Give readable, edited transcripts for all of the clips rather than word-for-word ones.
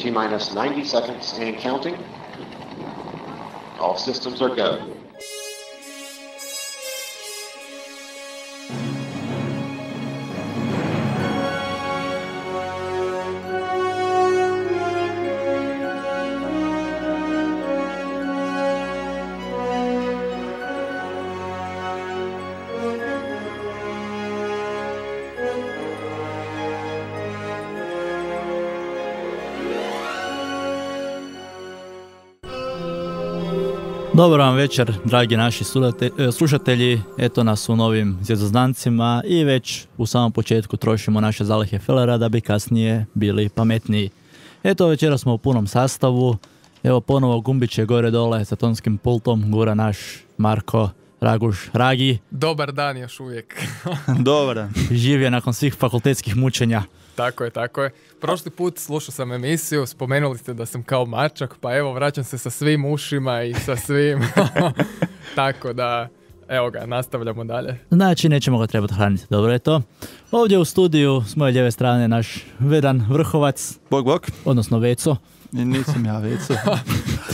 T-minus 90 seconds and counting. All systems are go. Dobar vam večer, dragi naši slušatelji. Eto nas u novim zvjezdoznancima i već u samom početku trošimo naše zalihe felera da bi kasnije bili pametniji. Eto, večera smo u punom sastavu. Evo ponovo gumbiće gore dole sa tonskim pultom gura naš Marko Raguš Ragi. Dobar dan još uvijek. Dobar dan. Živio nakon svih fakultetskih mučenja. Tako je. Prošli put slušao sam emisiju, spomenuli ste da sam kao mačak, pa evo vraćam se sa svim ušima i sa svim. Tako da, evo ga, nastavljamo dalje. Znači, nećemo ga trebati hraniti, dobro je to. Ovdje u studiju, s moje lijeve strane, naš Vedan Vrhovac. Bog. Odnosno Veco. Nisam ja Veco.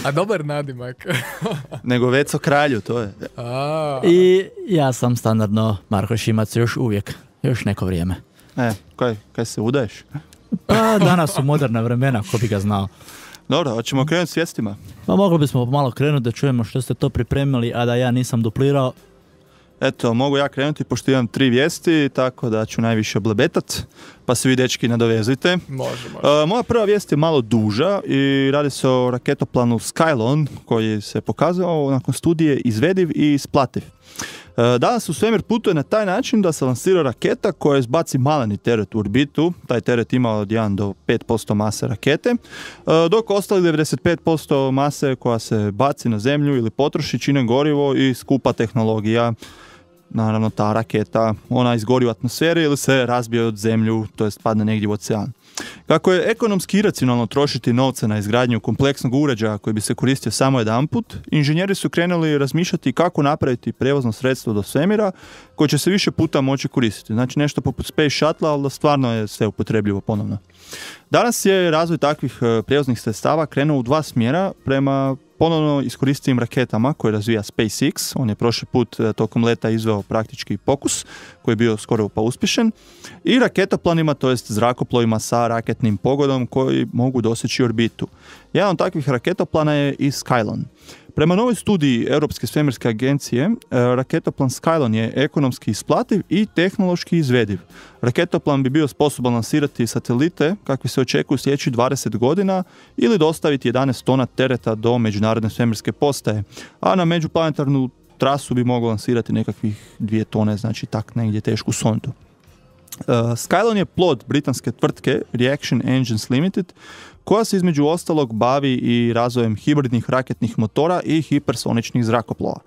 A dobar nadimak. Nego Veco kralju, to je. I ja sam standardno Marko Šimac još uvijek, još neko vrijeme. Kaj se udaješ? Pa danas su moderna vremena, ko bi ga znao. Dobro, hoćemo krenuti s vijestima. Pa mogli bismo malo krenuti da čujemo što ste to pripremili, a da ja nisam duplirao. Eto, mogu ja krenuti pošto imam 3 vijesti, tako da ću najviše blebetat, pa se vi dečki nadovezujte. Može. Moja prva vijest je malo duža i radi se o raketoplanu Skylon koji se pokazao nakon studije izvediv i isplativ. Danas u svemir putuje na taj način da se lansira raketa koja izbaci maleni teret u orbitu. Taj teret ima od 1 do 5% mase rakete, dok ostali 95% mase koja se baci na zemlju ili potroši čine gorivo i skupa tehnologija. Naravno, ta raketa, ona izgori u atmosferi ili se razbije od zemlju, to jest padne negdje u ocean. Kako je ekonomski iracionalno trošiti novce na izgradnju kompleksnog uređaja koji bi se koristio samo jedanput, inženjeri su krenuli razmišljati kako napraviti prijevozno sredstvo do svemira koje će se više puta moći koristiti. Znači nešto poput Space Shuttle, ali da stvarno je sve upotrebljivo ponovno. Danas je razvoj takvih prijevoznih sredstava krenuo u 2 smjera prema ponovno iskoristivim raketama koje razvija SpaceX. On je prošli put tokom leta izveo praktički pokus koji je bio skoro pa uspješan. I raketoplanima, to jest zrakoplovima sa raketnim pogodom koji mogu doseći orbitu. Jedan od takvih raketoplana je i Skylon. Prema novoj studiji Europske svemirske agencije, raketoplan Skylon je ekonomski isplativ i tehnološki izvediv. Raketoplan bi bio sposoban lansirati satelite kakvi se očekuju sljedećih 20 godina ili dostaviti 11 tona tereta do međunarodne svemirske postaje, a na međuplanetarnu trasu bi mogao lansirati nekakvih 2 tone, znači tak negdje tešku sondu. Skylon je plod britanske tvrtke Reaction Engines Limited, koja se između ostalog bavi i razvojem hibridnih raketnih motora i hipersoničnih zrakoplova.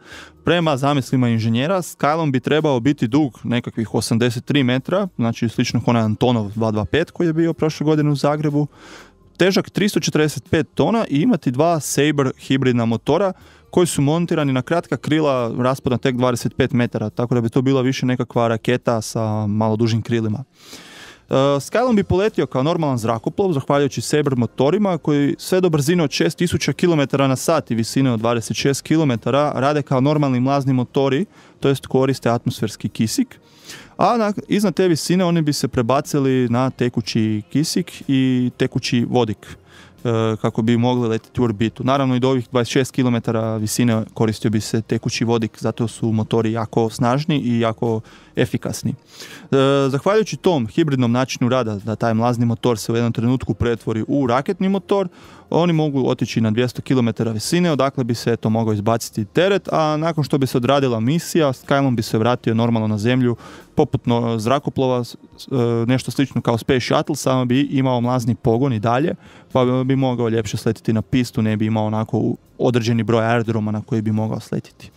Prema zamislima inženjera, Skylon bi trebao biti dug nekakvih 83 metra, znači slično kao onaj Antonov 225 koji je bio prošle godine u Zagrebu, težak 345 tona i imati 2 Sabre hibridna motora koji su montirani na kratka krila raspona tek 25 metara, tako da bi to bila više nekakva raketa sa malo dužim krilima. Skylon bi poletio kao normalan zrakoplov, zahvaljujući Sabre motorima koji sve do brzine od 6000 km na sat i visine od 26 km rade kao normalni mlazni motori, to jest koriste atmosferski kisik, a iznad te visine oni bi se prebacili na tekući kisik i tekući vodik kako bi mogli letiti u orbitu. Naravno i do ovih 26 km visine koristio bi se tekući vodik, zato su motori jako snažni i jako efikasni. Zahvaljujući tom hibridnom načinu rada da taj mlazni motor se u jednom trenutku pretvori u raketni motor, oni mogu otići na 200 km visine, odakle bi se to mogao izbaciti teret, a nakon što bi se odradila misija, Skylon bi se vratio normalno na zemlju poput zrakoplova, nešto slično kao Space Shuttle, samo bi imao mlazni pogon i dalje, pa bi mogao ljepše sletiti na pistu, ne bi imao onako određeni broj aerodroma na koji bi mogao sletiti.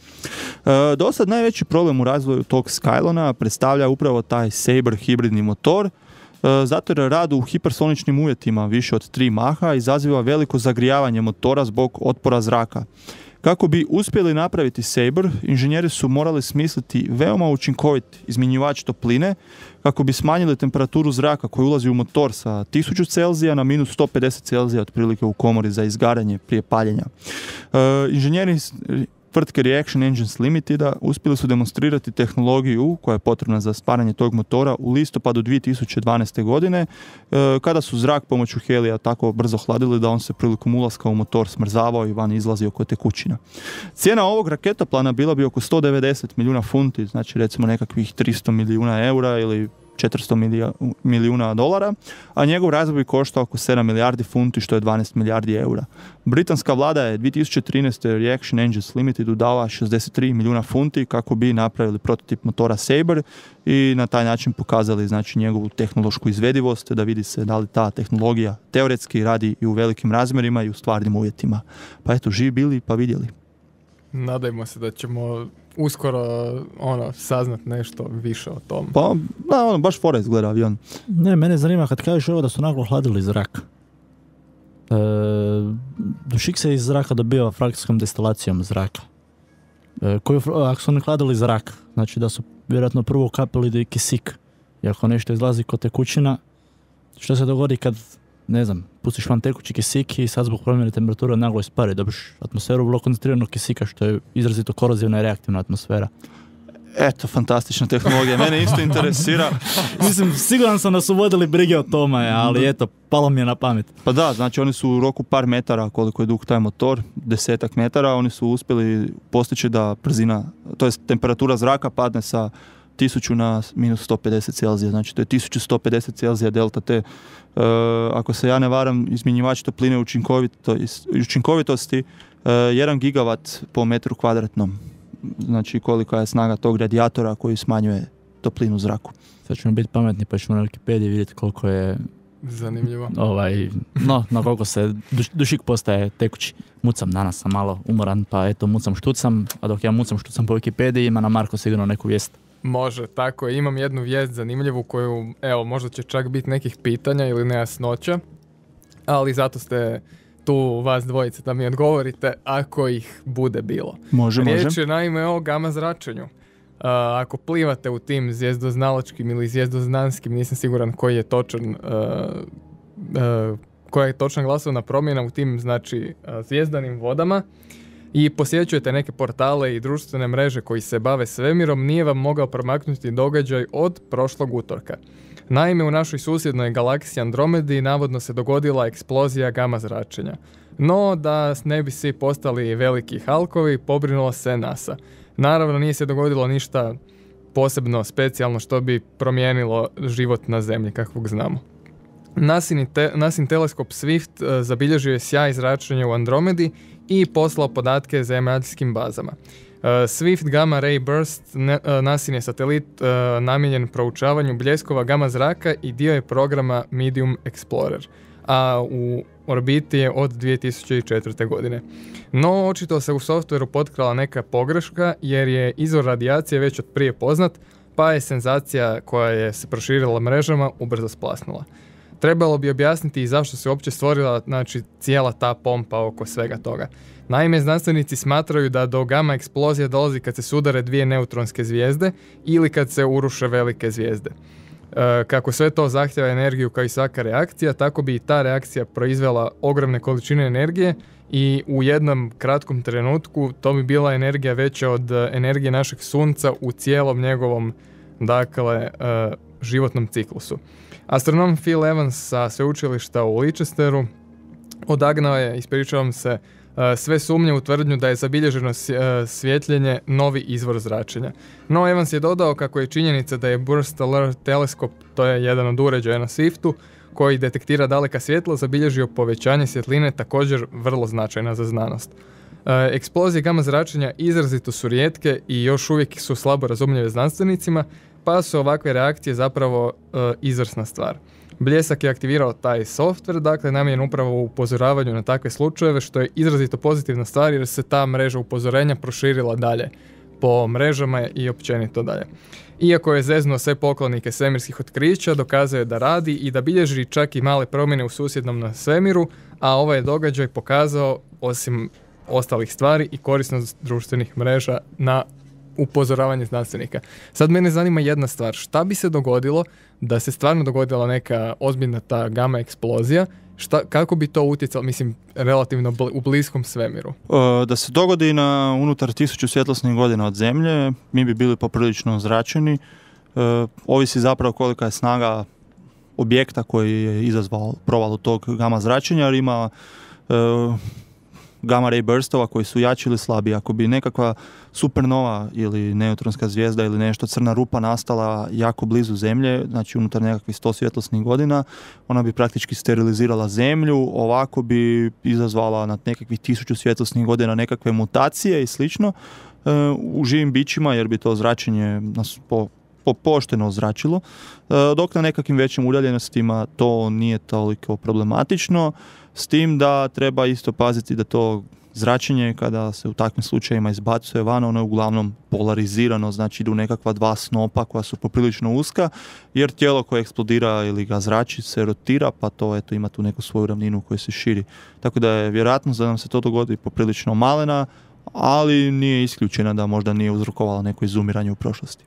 Dosad najveći problem u razvoju tog Skylona predstavlja upravo taj Sabre hibridni motor, zato jer rad u hipersoničnim uvjetima više od 3 maha izaziva veliko zagrijavanje motora zbog otpora zraka. Kako bi uspjeli napraviti Sabre, inženjeri su morali smisliti veoma učinkovit izmjenjivač topline kako bi smanjili temperaturu zraka koji ulazi u motor sa 1000 Celzija na minus 150 Celzija otprilike u komori za izgaranje prije paljenja. Inženjeri tvrtke Reaction Engines Limiteda uspjeli su demonstrirati tehnologiju koja je potrebna za stvaranje tog motora u listopadu 2012. godine, kada su zrak pomoću helija tako brzo hladili da on se prilikom ulaska u motor smrzavao i van izlazio oko tekućina. Cijena ovog raketoplana bila bi oko 190 milijuna funti, znači recimo nekakvih 300 milijuna eura ili 400 milijuna dolara, a njegov razvoj bi koštao oko 7 milijardi funti, što je 12 milijardi eura. Britanska vlada je 2013. Reaction Engines Limited dala 63 milijuna funti kako bi napravili prototip motora Sabre i na taj način pokazali znači njegovu tehnološku izvedivost, da vidi se da li ta tehnologija teoretski radi i u velikim razmjerima i u stvarnim uvjetima. Pa eto, živi bili pa vidjeli. Nadajmo se da ćemo uskoro saznat nešto više o tom. Pa, da, baš fora izgleda avion. Ne, mene zanima kad kažeš ovo da su naglo hladili zrak. Dušik se iz zraka dobiva frakcijskom destilacijom zraka. Ako su ne hladili zrak, znači da su vjerojatno prvo kapili kisik. I ako nešto izlazi kod tekućina, što se dogodi kad, ne znam, pustiš van tekući kisik i sad zbog promjene temperature naglo ispari, dobiš atmosferu vrlo koncentriranog kisika, što je izrazito korozivna i reaktivna atmosfera. Eto, fantastična tehnologija, mene isto interesira. Mislim, siguran sam da su vodili brige o tome, ali eto, palo mi je na pamet. Pa da, znači oni su u roku par metara, koliko je dug taj motor, 10 metara, oni su uspjeli postići da brzina, to jest temperatura zraka padne sa 1000 na minus 150 Celzija, znači to je 1150 Celzija delta T. Ako se ja ne varam, izmjenjivač topline učinkovitosti 1 gigavat po metru kvadratnom. Znači kolika je snaga tog radijatora koji smanjuje toplinu zraku. Sad ćemo biti pametni pa ćemo na Wikipediji vidjeti koliko je zanimljivo. Na koliko se dušik postaje tekući. Mucam, danas sam malo umoran, pa eto mucam štucam, a dok ja mucam štucam po Wikipediji ima na Marko sigurno neku vijest. Može, tako je. Imam jednu vijest zanimljivu koju, evo, možda će čak biti nekih pitanja ili nejasnoća, ali zato ste tu vas dvojice da mi odgovorite ako ih bude bilo. Može. Riječ je naime o gama zračenju. Ako plivate u tim zvijezdoznalačkim ili zvijezdoznanskim, nisam siguran koji je točan koja je točna glasovna promjena u tim, znači, zvijezdanim vodama i posjećujete neke portale i društvene mreže koji se bave svemirom, nije vam mogao promaknuti događaj od prošlog utorka. Naime, u našoj susjednoj galaksiji Andromedi navodno se dogodila eksplozija gama zračenja. No, da ne bi svi postali veliki halkovi, pobrinulo se NASA. Naravno, nije se dogodilo ništa posebno specijalno što bi promijenilo život na Zemlji, kakvog znamo. NASIN teleskop Swift zabilježio je sjaj zračenja u Andromedi i poslao podatke zemaljskim bazama. Swift Gamma Ray Burst NASIN je satelit namijenjen proučavanju bljeskova gama zraka i dio je programa Medium Explorer, a u orbiti je od 2004. godine. No, očito se u softveru potkrala neka pogreška jer je izvor radijacije već od prije poznat, pa je senzacija koja je se proširila mrežama ubrzo splasnula. Trebalo bi objasniti i zašto se uopće stvorila, znači, cijela ta pompa oko svega toga. Naime, znanstvenici smatraju da do gama eksplozije dolazi kad se sudare dvije neutronske zvijezde ili kad se uruše velike zvijezde. Kako sve to zahtjeva energiju kao i svaka reakcija, tako bi i ta reakcija proizvela ogromne količine energije i u jednom kratkom trenutku to bi bila energija veća od energije našeg sunca u cijelom njegovom, dakle, životnom ciklusu. Astronom Phil Evans sa sveučilišta u Leicesteru odagnao je, ispričavam se, sve sumnje u tvrdnju da je zabilježeno svjetljenje novi izvor zračenja. No, Evans je dodao kako je činjenica da je Burst Alert teleskop, to je jedan od uređaja na Swiftu, koji detektira daleka svjetla, zabilježio povećanje svjetline, također vrlo značajna za znanost. Eksplozije gama zračenja izrazito su rijetke i još uvijek su slabo razumljive znanstvenicima, pa su ovakve reakcije zapravo izvrsna stvar. Bljesak je aktivirao taj software, dakle namijenjen upravo u upozoravanju na takve slučajeve, što je izrazito pozitivna stvar jer se ta mreža upozorenja proširila dalje po mrežama i općenito dalje. Iako je zeznuo sve poklonike svemirskih otkrića, dokazao je da radi i da bilježi čak i male promjene u susjednom na svemiru, a ovaj događaj pokazao, osim ostalih stvari i korisnost društvenih mreža na upozoravanje znanstvenika. Sad mene zanima jedna stvar, šta bi se dogodilo da se stvarno dogodila neka ozbiljna ta gama eksplozija, kako bi to utjecalo, mislim, relativno u bliskom svemiru? Da se dogodi na unutar 1000 svjetlosnih godina od Zemlje, mi bi bili poprilično zračeni. Ovisi zapravo kolika je snaga objekta koji je izazvao provalu tog gama zračenja, jer ima gamma ray burstova koji su jači ili slabiji. Ako bi nekakva supernova ili neutronska zvijezda ili nešto crna rupa nastala jako blizu Zemlje, znači unutar nekakvih 100 svjetlosnih godina, ona bi praktički sterilizirala Zemlju, ovako bi izazvala na nekakvih 1000 svjetlosnih godina nekakve mutacije i slično u živim bićima, jer bi to zračenje nas pošteno ozračilo, dok na nekakvim većim udaljenostima to nije toliko problematično, s tim da treba isto paziti da to zračenje kada se u takvim slučajevima izbacuje van, ono je uglavnom polarizirano, znači idu nekakva dva snopa koja su poprilično uska, jer tijelo koje eksplodira ili ga zrači se rotira, pa to eto ima tu neku svoju ravninu koja se širi. Tako da je vjerojatnost da nam se to dogodi poprilično malena, ali nije isključena da možda nije uzrokovala neko izumiranje u prošlosti.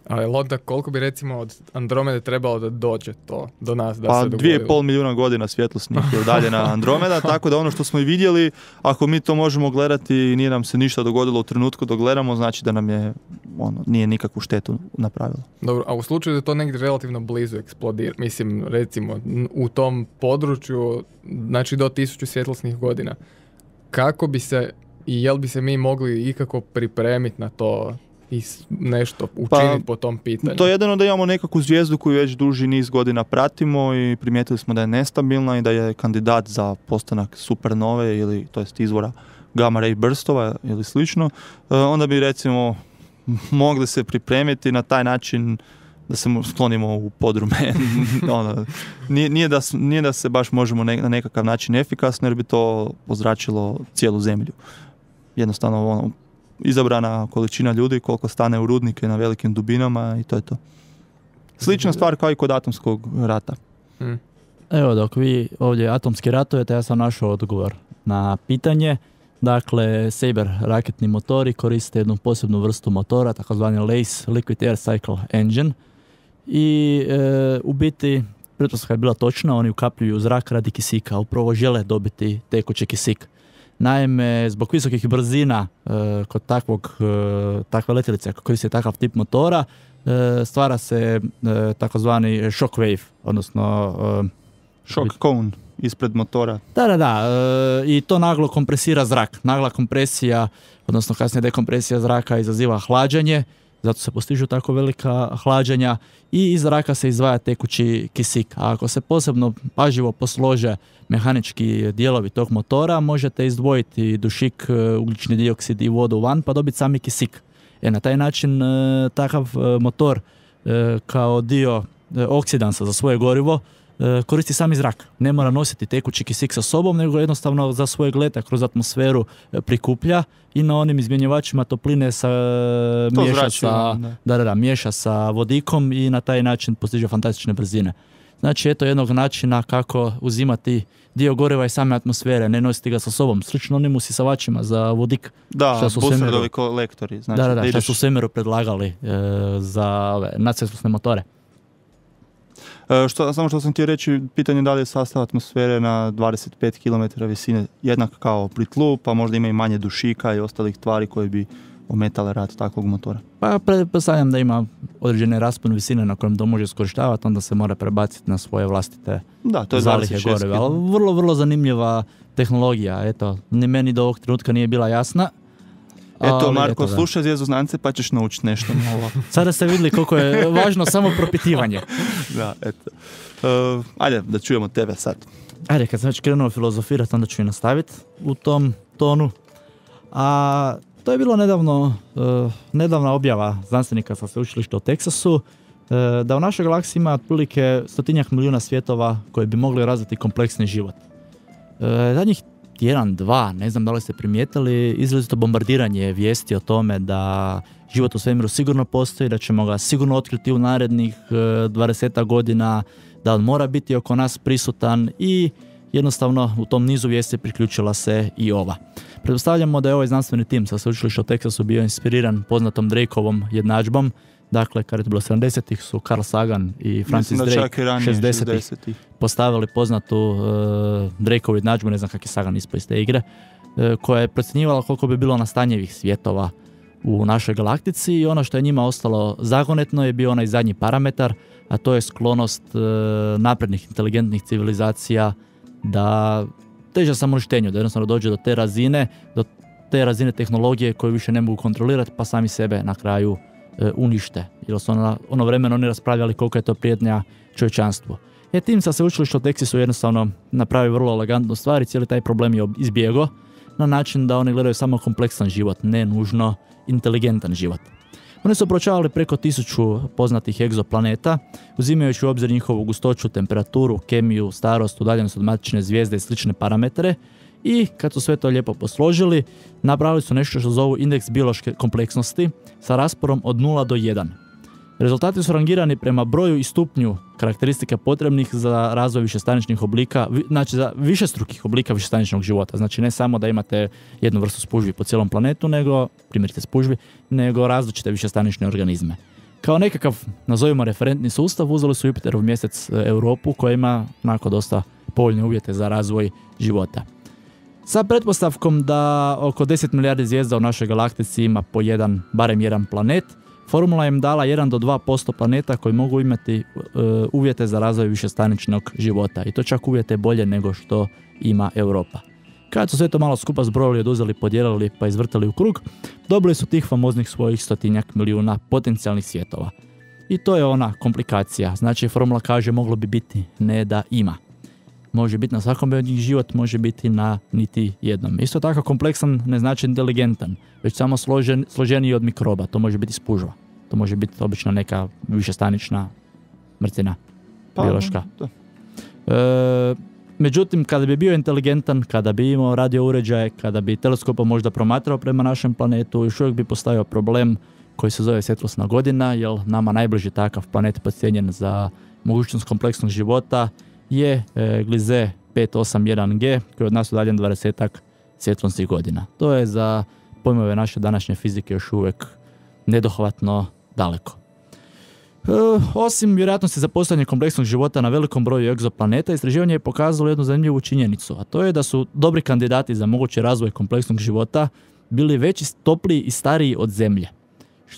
Ali onda koliko bi recimo od Andromede trebalo da dođe to do nas da pa se dogodilo? 2,5 milijuna godina svjetlosnih je udaljena Andromeda, tako da ono što smo i vidjeli, ako mi to možemo gledati i nije nam se ništa dogodilo u trenutku dok gledamo, znači da nam je nije nikakvu štetu napravilo. Dobro, a u slučaju da to negdje relativno blizu eksplodira, mislim recimo u tom području, znači do 1000 svjetlosnih godina, kako bi se i jel bi se mi mogli ikako pripremiti na to i nešto učiniti po tom pitanju? To je jedino da imamo nekakvu zvijezdu koju već duži niz godina pratimo i primijetili smo da je nestabilna i da je kandidat za postanak supernove ili to jest izvora gamma ray burstova ili slično. Onda bi recimo mogli se pripremiti na taj način da se sklonimo u podrume. Nije da se baš možemo na nekakav način efikasno, jer bi to ozračilo cijelu Zemlju. Jednostavno izabrana količina ljudi koliko stane u rudnike na velikim dubinama i to je to. Slična stvar kao i kod atomskog rata. Evo, dok vi ovdje atomski ratujete, ja sam našao odgovor na pitanje. Dakle, Saber raketni motori koriste jednu posebnu vrstu motora, takozvani LACE, Liquid Air Cycle Engine. I u biti, pretpostavka je bila točna, oni ukapljuju zrak radi kisika, upravo žele dobiti tekući kisik. Naime, zbog visokih brzina kod takve letjelice ako koristi takav tip motora, stvara se takozvani shock wave, odnosno shock cone ispred motora. Da, i to naglo kompresira zrak. Nagla kompresija, odnosno kasnije dekompresija zraka izaziva hlađenje, zato se postižu tako velika hlađenja i iz zraka se izdvaja tekući kisik. A ako se posebno pažljivo poslože mehanički dijelovi tog motora, možete izdvojiti dušik, ugljični dioksid i vodu van pa dobiti sami kisik. Na taj način takav motor kao dio oksidansa za svoje gorivo koristi sami zrak. Ne mora nositi tekući kisik sa sobom, nego jednostavno za svojeg leta kroz atmosferu prikuplja i na onim izmjenjivačima topline miješa sa vodikom i na taj način postiže fantastične brzine. Znači, eto jednog načina kako uzimati dio goriva iz same atmosfere, ne nositi ga sa sobom. Slično onim usisavačima za vodik. Da, Busardovi kolektori. Znači, što su u svemiru predlagali za nadsvjetlosne motore. Samo što sam htio reći, pitanje da li je sastav atmosfere na 25 km visine jednak kao pri tlu, pa možda ima i manje dušika i ostalih tvari koje bi ometale rad takvog motora. Pa pretpostavljam da ima određene raspon visine na kojem to može iskorištavati, onda se mora prebaciti na svoje vlastite zalihe goriva. Ali vrlo, vrlo zanimljiva tehnologija. Eto, ni meni do ovog trenutka nije bila jasna. Eto, Marko, slušaj Zvjezdoznance pa ćeš naučiti nešto novo. Sada ste vidjeli koliko je važno samo propitivanje. Da, eto. Ajde, da čujemo tebe sad. Ajde, kad sam već krenuo filozofirati, onda ću i nastaviti u tom tonu. A to je bilo nedavna objava znanstvenika sa sveučilišta u Teksasu, da u našoj galaksiji ima otprilike 100 milijuna svjetova koji bi mogli razviti kompleksni život. Zadnjih 1-2, ne znam da li ste primijetili, izrazito bombardiranje vijesti o tome da život u svemiru sigurno postoji, da ćemo ga sigurno otkriti u narednih 20 godina, da on mora biti oko nas prisutan i jednostavno u tom nizu vijesti priključila se i ova. Pretpostavljamo da je ovaj znanstveni tim sa sveučilišta u Teksasu bio inspiriran poznatom Drakeovom jednadžbom. Dakle, kad je to bilo 70-ih su Carl Sagan i Francis Drake 60-ih postavili poznatu Drakeovu jednadžbu, ne znam kak je Sagan ispao iz te igre, koja je procjenjivala koliko bi bilo nastanjivih svjetova u našoj galaktici i ono što je njima ostalo zagonetno je bio onaj zadnji parametar, a to je sklonost naprednih inteligentnih civilizacija da teže samoništenju, da jednostavno dođe do te razine tehnologije koju više ne mogu kontrolirati pa sami sebe na kraju unište. Jer su ono vremeno oni raspravljali koliko je to prijetnja čovječanstvu. Tim sa sveučilišta u Teksasu jednostavno napravi vrlo elegantnu stvar i cijeli taj problem je izbjegao na način da oni gledaju samo kompleksan život, ne nužno inteligentan život. Oni su proučavali preko 1000 poznatih egzoplaneta, uzimajući u obzir njihovu gustoću, temperaturu, kemiju, starost, udaljenost od matične zvijezde i slične parametre i kad su sve to lijepo posložili, napravili su nešto što zovu indeks biološke kompleksnosti sa rasporom od 0 do 1. Rezultati su rangirani prema broju i stupnju karakteristika potrebnih za razvoj višestaničnih oblika, znači za višestrukih oblika višestaničnog života. Znači ne samo da imate jednu vrstu spužvi po cijelom planetu, nego, primjerice spužvi, nego različite višestanične organizme. Kao nekakav, nazovimo referentni sustav, uzeli su Jupiterov mjesec Europu koja ima onako dosta povoljne uvjete za razvoj života. Sa pretpostavkom da oko 10 milijardi zvijezda u našoj galaktici ima po barem jedan planet, formula im dala 1 do 2% planeta koji mogu imati uvjete za razvoj višestaničnog života i to čak uvjete bolje nego što ima Europa. Kad su sve to malo skupa zbrojili, oduzeli, podijelili pa izvrtali u krug, dobili su tih famoznih svojih 100 milijuna potencijalnih svjetova. I to je ona komplikacija. Znači formula kaže moglo bi biti ne da ima. Može biti na svakom od njih život, može biti na niti jednom. Isto tako kompleksan ne znači inteligentan, već samo složeniji od mikroba. To može biti spužva. To može biti obično neka višestanična mrtvina, biološka. Međutim, kada bi bio inteligentan, kada bi imao radio uređaje, kada bi teleskopom možda promatrao prema našem planetu, još uvijek bi postojao problem koji se zove svjetlosna godina, jer nama najbliži takav planet podcijenjen za mogućnost kompleksnog života je Gliese 581G, koji je od nas udaljen 20 svjetlosnih godina. To je za pojmove naše današnje fizike još uvijek nedohvatno daleko. Osim vjerojatnosti za postojanje kompleksnog života na velikom broju egzoplaneta, istraživanje je pokazalo jednu zanimljivu činjenicu, a to je da su dobri kandidati za mogući razvoj kompleksnog života bili veći, topliji i stariji od Zemlje.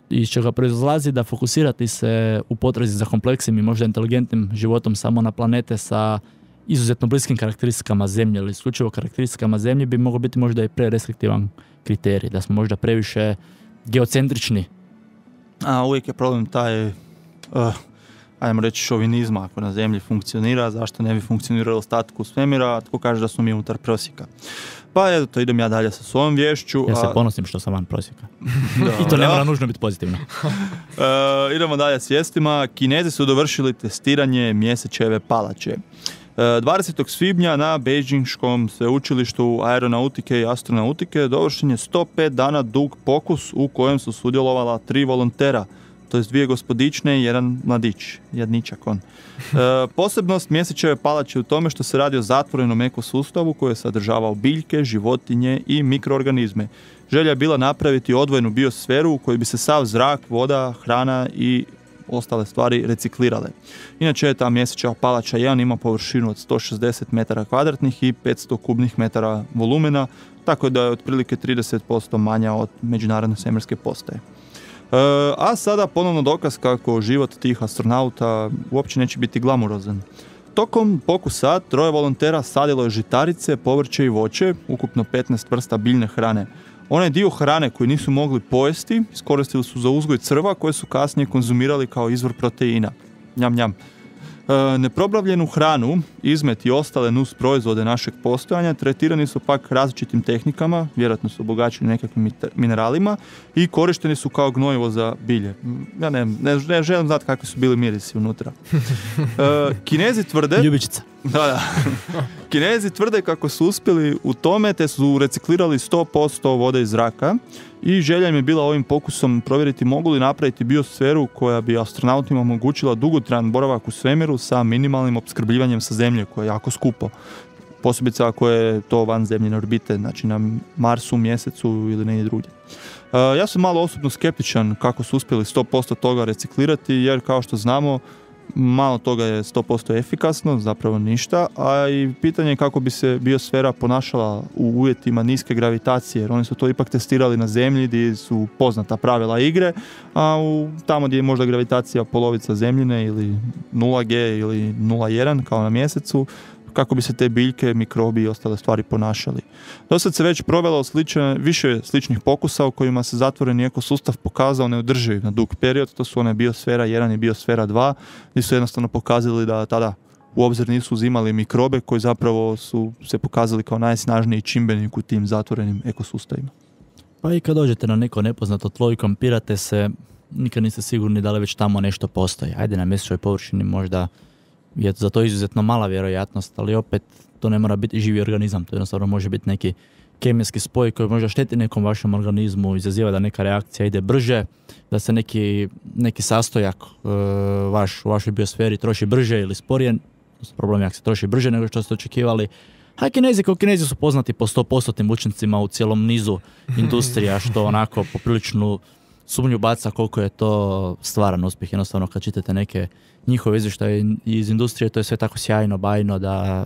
Iz čega proizlazi da fokusirati se u potrazi za kompleksnim i možda inteligentnim životom samo na planete sa izuzetno bliskim karakteristikama Zemlje ili isključivo karakteristikama Zemlje bi moglo biti možda i prerestriktivan kriterij, da smo možda previše geocentrični. A uvijek je problem taj, ajmo reći, šovinizma. Ako na Zemlji funkcionira, zašto ne bi funkcioniralo ostatku svemira, tko kaže da smo mi unutar prosjeka. Pa eto, idem ja dalje sa svojom vješću. Ja se ponosim što sam van prosjeka. I to ne mora nužno biti pozitivno. Idemo dalje s vijestima. Kinezi su dovršili testiranje Mjesečeve palače. 20. svibnja na Beijinškom sveučilištu aeronautike i astronautike dovršen je 105 dana dug pokus u kojem su sudjelovala 3 volontera, to je 2 gospodične i 1 mladić, jedničak on. Posebnost Mjesečeve palače u tome što se radi o zatvorenom ekosustavu koji je sadržavao biljke, životinje i mikroorganizme. Želja je bila napraviti odvojenu biosferu u kojoj bi se sav zrak, voda, hrana i ostale stvari reciklirale. Inače je ta Mjesečeva palača 1 ima površinu od 160 metara kvadratnih i 500 kubnih metara volumena, tako da je otprilike 30% manja od međunarodne svemirske postaje. A sada ponovno dokaz kako život tih astronauta uopće neće biti glamurozan. Tokom pokusa 3 volontera sadilo je žitarice, povrće i voće, ukupno 15 vrsta biljne hrane. Onaj dio hrane koji nisu mogli pojesti iskoristili su za uzgoj crva koje su kasnije konzumirali kao izvor proteina. Njam, njam. Neprobavljenu hranu, izmet i ostale nus proizvode našeg postojanja tretirani su pak različitim tehnikama, vjerojatno su obogaćeni nekakvim mineralima i korišteni su kao gnojivo za bilje. Ja ne želim znati kakvi su bili mirisi unutra. Kinezi tvrde... Ljubičica. Da. Kinezi tvrde kako su uspjeli u tome te su reciklirali 100% vode iz zraka i želja im je bila ovim pokusom provjeriti mogu li napraviti biosferu koja bi astronautima omogućila dugotrajan boravak u svemiru sa minimalnim opskrbljivanjem sa Zemlje koje je jako skupo. posebice ako je to van zemljine orbite, znači na Marsu, Mjesecu ili negdje drugdje. Ja sam malo osobno skeptičan kako su uspjeli 100% toga reciklirati, jer kao što znamo, malo toga je 100% efikasno, zapravo ništa, a i pitanje je kako bi se biosfera ponašala u uvjetima niske gravitacije, jer oni su to ipak testirali na Zemlji gdje su poznata pravila igre, a tamo gdje je možda gravitacija polovica Zemljine ili 0G ili 0,1 kao na Mjesecu, kako bi se te biljke, mikrobi i ostale stvari ponašali. Dosad se već provelo više sličnih pokusa u kojima se zatvoreni ekosustav pokazao neodrživ na dug period, to su one biosfera 1 i biosfera 2, gdje su jednostavno pokazali da tada u obzir nisu uzimali mikrobe koji zapravo su se pokazali kao najsnažniji čimbenik u tim zatvorenim ekosustavima. Pa i kad dođete na neko nepoznato tlo i kampirate se, nikad niste sigurni da li već tamo nešto postoji. Ajde, na mjesečnoj površini možda je za to izuzetno mala vjerojatnost, ali opet to ne mora biti živi organizam, to jednostavno može biti neki kemijski spoj koji možda šteti nekom vašem organizmu, izaziva da neka reakcija ide brže, da se neki sastojak u vašoj biosferi troši brže ili sporije, problem je ako se troši brže nego što ste očekivali. A Kinezi su poznati po 100% učincima u cijelom nizu industrija, što onako popriličnu sumnju baca koliko je to stvaran uspjeh. Jednostavno kad čitate neke njihove izvještaje iz industrije, to je sve tako sjajno, bajno da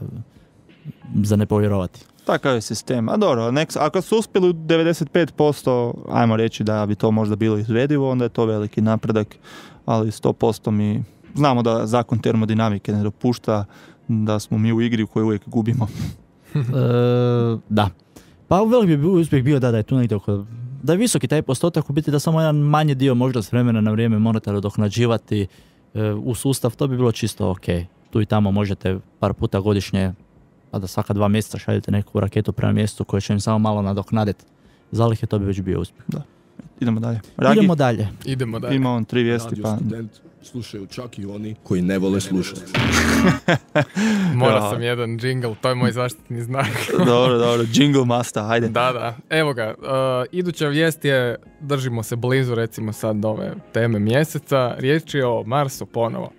za ne povjerovati. Takav je sistem. A dobro, ako su uspjeli 95%, ajmo reći da bi to možda bilo izvedivo, onda je to veliki napredak, ali 100% mi znamo da zakon termodinamike ne dopušta da smo mi u igri u kojoj uvijek gubimo. Da. Pa veliki bi uspjeh bio da je tu negdje oko, da je visoki taj postotak, u biti da samo jedan manji dio možda s vremena na vrijeme morate nadoknađivati u sustav, to bi bilo čisto ok. Tu i tamo možete par puta godišnje, pa da svaka 2 mjeseca šaljete neku raketu prema mjestu koje će im samo malo nadoknaditi zalihe, to bi već bio uspjeh. Da. Idemo dalje. Ragi? Idemo dalje. Ima on 3 vijesti. Radio student slušaju čak i oni koji ne vole slušati. Morao sam jedan džingl, to je moj zaštitni znak. Dobro, jingle master, hajde. Da. Evo ga, iduća vijest je, držimo se blizu recimo sad ove teme mjeseca, riječ je o Marsu ponovo.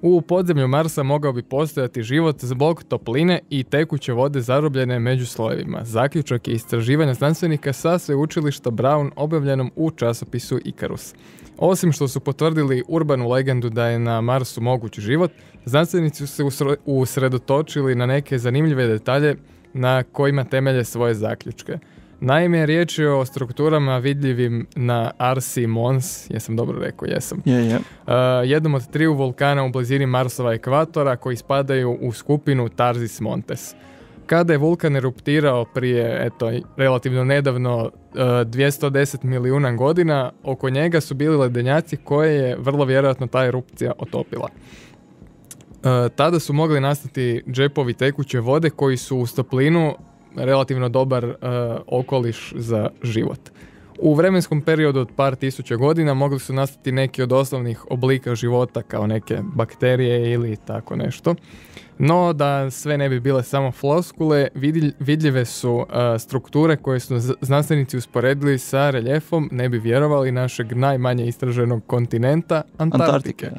U podzemlju Marsa mogao bi postojati život zbog topline i tekuće vode zarobljene među slojevima. Zaključak je istraživanja znanstvenika sa sveučilišta Brown objavljenom u časopisu Icarus. Osim što su potvrdili urbanu legendu da je na Marsu moguć život, znanstvenici su se usredotočili na neke zanimljive detalje na kojima temelje svoje zaključke. Naime, riječ je o strukturama vidljivim na Arsi Mons, jesam dobro rekao, jesam. Je. Jednom od 3 vulkana u blizini Marsova ekvatora koji spadaju u skupinu Tarzis Montes. Kada je vulkan eruptirao prije, relativno nedavno, 210 milijuna godina, oko njega su bili ledenjaci koje je vrlo vjerojatno ta erupcija otopila. Tada su mogli nastati džepovi tekuće vode koji su uz toplinu relativno dobar okoliš za život. U vremenskom periodu od par tisuća godina mogli su nastati neki od osnovnih oblika života kao neke bakterije ili tako nešto. No, da sve ne bi bile samo floskule, vidljive su strukture koje su znanstvenici usporedili sa reljefom, ne bi vjerovali, našeg najmanje istraženog kontinenta, Antarktike.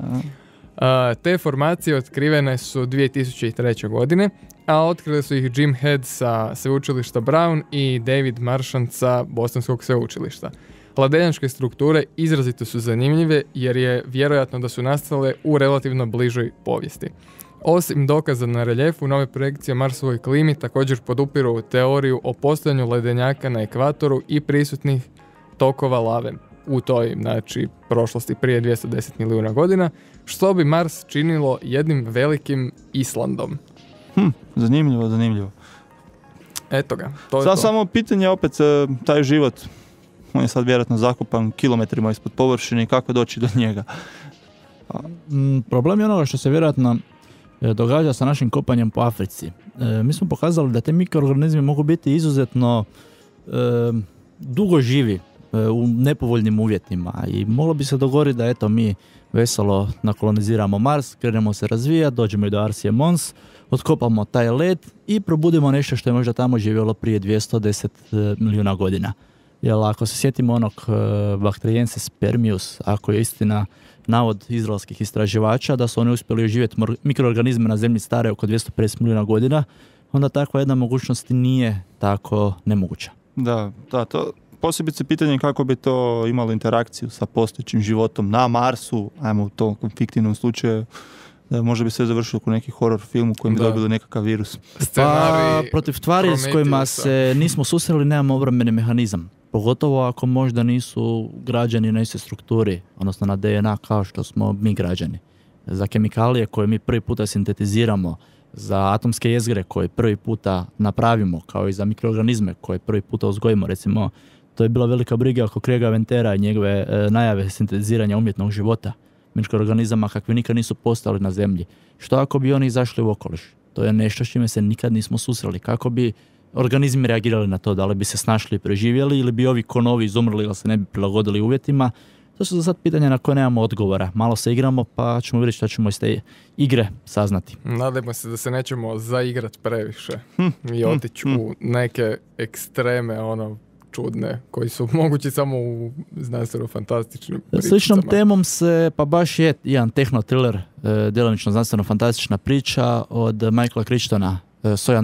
Te formacije otkrivene su 2003. godine, a otkrili su ih Jim Head sa sveučilišta Brown i David Marchant sa Bostonskog sveučilišta. Ledenjačke strukture izrazito su zanimljive jer je vjerojatno da su nastale u relativno bližoj povijesti. Osim dokaza na reljefu, nove projekcije o Marsovoj klimi također podupiru teoriju o postojanju ledenjaka na ekvatoru i prisutnih tokova lave u toj, prošlosti prije 210 milijuna godina, što bi Mars činilo jednim velikim Islandom. Zanimljivo. Eto ga, to je sad to. Samo pitanje opet, taj život, on je sad vjerojatno zakopan kilometrima ispod površine i kako doći do njega. Problem je onoga što se vjerojatno događa sa našim kopanjem po Africi. Mi smo pokazali da te mikroorganizmi mogu biti izuzetno dugo živi u nepovoljnim uvjetima i moglo bi se dogoditi da mi veselo nakoloniziramo Mars, krenemo se razvijati, dođemo i do Arsie Mons, otkopamo taj led i probudimo nešto što je možda tamo živjelo prije 210 milijuna godina. Jer ako se sjetimo onog Bactriensis spermius, ako je istina navod izraelskih istraživača da su oni uspjeli oživjeti mikroorganizme na zemlji stare oko 250 milijuna godina, onda takva jedna mogućnost nije tako nemoguća. Da, to posebice pitanje kako bi to imalo interakciju sa postojećim životom na Marsu, ajmo u tom fiktivnom slučaju, da možda bi sve završilo u neki horror film u kojem bi dobili nekakav virus. Pa, protiv tvari s kojima se nismo susreli nemamo obrambeni mehanizam. Pogotovo ako možda nisu građani na istoj strukturi, odnosno na DNA kao što smo mi građani. Za kemikalije koje mi prvi puta sintetiziramo, za atomske jezgre koje prvi puta napravimo, kao i za mikroorganizme koje prvi puta uzgojimo, recimo, to je bila velika briga oko Craiga Ventera i njegove najave sintetiziranja umjetnog života, mikroorganizama kakvi nikad nisu postali na zemlji. Što ako bi oni izašli u okoliš? To je nešto s čime se nikad nismo susreli. Kako bi organizmi reagirali na to? Da li bi se snašli i preživjeli ili bi ovi ko novi izumrli ili se ne bi prilagodili uvjetima? To su za sad pitanja na koje nemamo odgovora. Malo se igramo pa ćemo vidjeti što ćemo iz te igre saznati. Nadajmo se da se nećemo zaigrat previše i otići u neke ekstreme, čudne, koji su mogući samo u znanstveno-fantastičnim pričama. Sličnom temom se, pa baš je jedan tehno-thriller, djelomično znanstveno-fantastična priča od Michaela Crichtona, Soj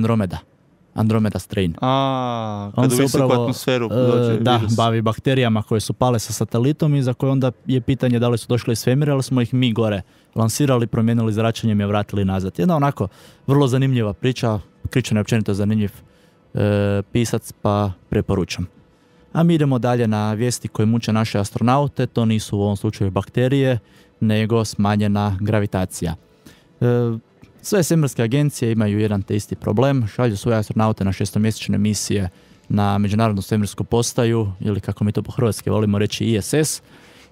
Andromeda Strain. Kad u visoku atmosferu dođe virus. Bavi bakterijama koje su pale sa satelitom i za koje onda je pitanje da li su došli iz svemira, ali smo ih mi gore lansirali, promijenili zračenjem i vratili nazad. Jedna onako vrlo zanimljiva priča, Crichton je općenito zanimljiv pisac, pa preporučam. A mi idemo dalje na vijesti koje muče naše astronaute, to nisu u ovom slučaju bakterije, nego smanjena gravitacija. Sve svemirske agencije imaju jedan te isti problem, šalju svoje astronaute na 6-mjesečne misije na Međunarodnu svemirsku postaju, ili kako mi to po hrvatski volimo reći ISS,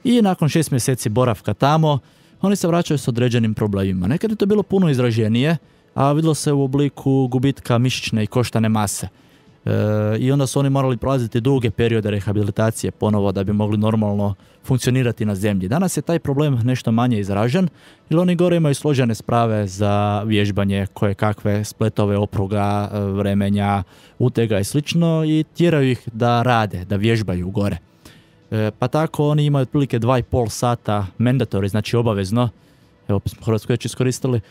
i nakon 6 mjeseci boravka tamo, oni se vraćaju s određenim problemima. Nekad je to bilo puno izraženije, a vidjelo se u obliku gubitka mišićne i koštane mase. I onda su oni morali prolaziti duge periode rehabilitacije ponovo da bi mogli normalno funkcionirati na zemlji. Danas je taj problem nešto manje izražen, jer oni gore imaju složene sprave za vježbanje, koje kakve spletove opruga, vremenja, utega i slično, i tjeraju ih da rade, da vježbaju gore. Pa tako oni imaju otprilike 2,5 sata mandatory, znači obavezno, evo smo Hrvatsku već iskoristili,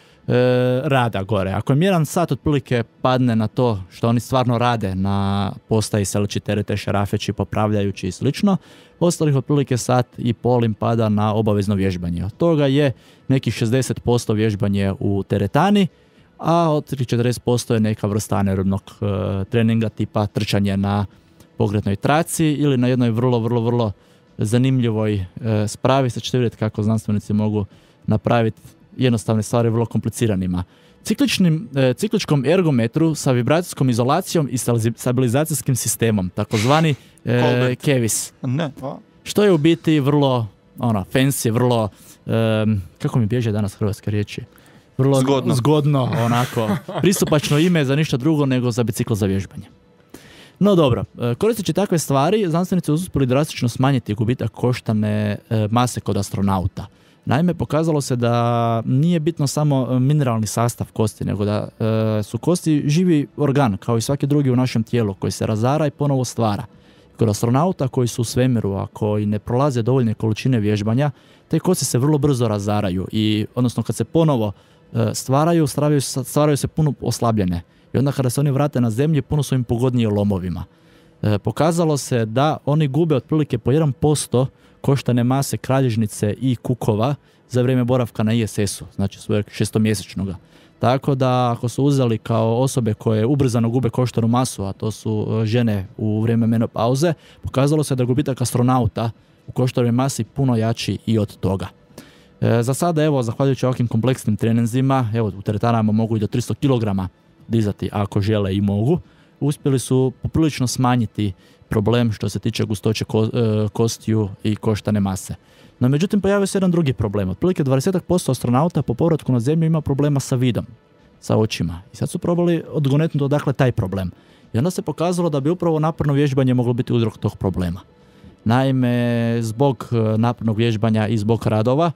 rada gore. Ako im 1 sat otprilike padne na to što oni stvarno rade na postaji seleći terete, šarafeći, popravljajući i slično, ostalih otprilike 1,5 sata im pada na obavezno vježbanje. Od toga je nekih 60% vježbanje u teretani, a od 40% je neka vrsta anaerobnog treninga tipa trčanje na pokretnoj traci ili na jednoj vrlo zanimljivoj spravi. Sad ćete vidjeti kako znanstvenici mogu napraviti jednostavne stvari vrlo kompliciranima. Cikličkom ergometru sa vibracijskom izolacijom i stabilizacijskim sistemom, takozvani KEVIS. Što je u biti vrlo fancy, vrlo, kako mi bježe danas hrvatske riječi? Vrlo zgodno, onako, pristupačno ime za ništa drugo nego za bicikl za vježbanje. No dobro, koristeći takve stvari, znanstvenici uspjeli drastično smanjiti gubitak koštane mase kod astronauta. Naime, pokazalo se da nije bitno samo mineralni sastav kosti, nego da su kosti živi organ, kao i svaki drugi u našem tijelu, koji se razara i ponovo stvara. Kod astronauta koji su u svemiru, a koji ne prolaze dovoljne količine vježbanja, te kosti se vrlo brzo razaraju i, odnosno kad se ponovo stvaraju se puno oslabljene. I onda kada se oni vrate na zemlji, puno su im pogodnije lomovima. Pokazalo se da oni gube otprilike po 1% koštane mase kralježnice i kukova za vrijeme boravka na ISS-u, znači svojeg 6-mjesečnoga. Tako da ako su uzeli kao osobe koje ubrzano gube koštanu masu, a to su žene u vrijeme menopauze, pokazalo se da gubitak astronauta u koštanoj masi puno jači i od toga. Za sada, evo, zahvaljujući ovakvim kompleksnim treninzima, evo, u teretanama mogu i do 300 kg dizati ako žele i mogu, uspjeli su poprilično smanjiti problem što se tiče gustoće kostiju i koštane mase. No međutim, pojavio se jedan drugi problem. Otprilike 20% astronauta po povratku na zemlju ima problema sa vidom, sa očima. I sad su probali odgonetnuti odakle taj problem. I onda se pokazalo da bi upravo naporno vježbanje moglo biti uzrok tog problema. Naime, zbog napornog vježbanja i zbog radova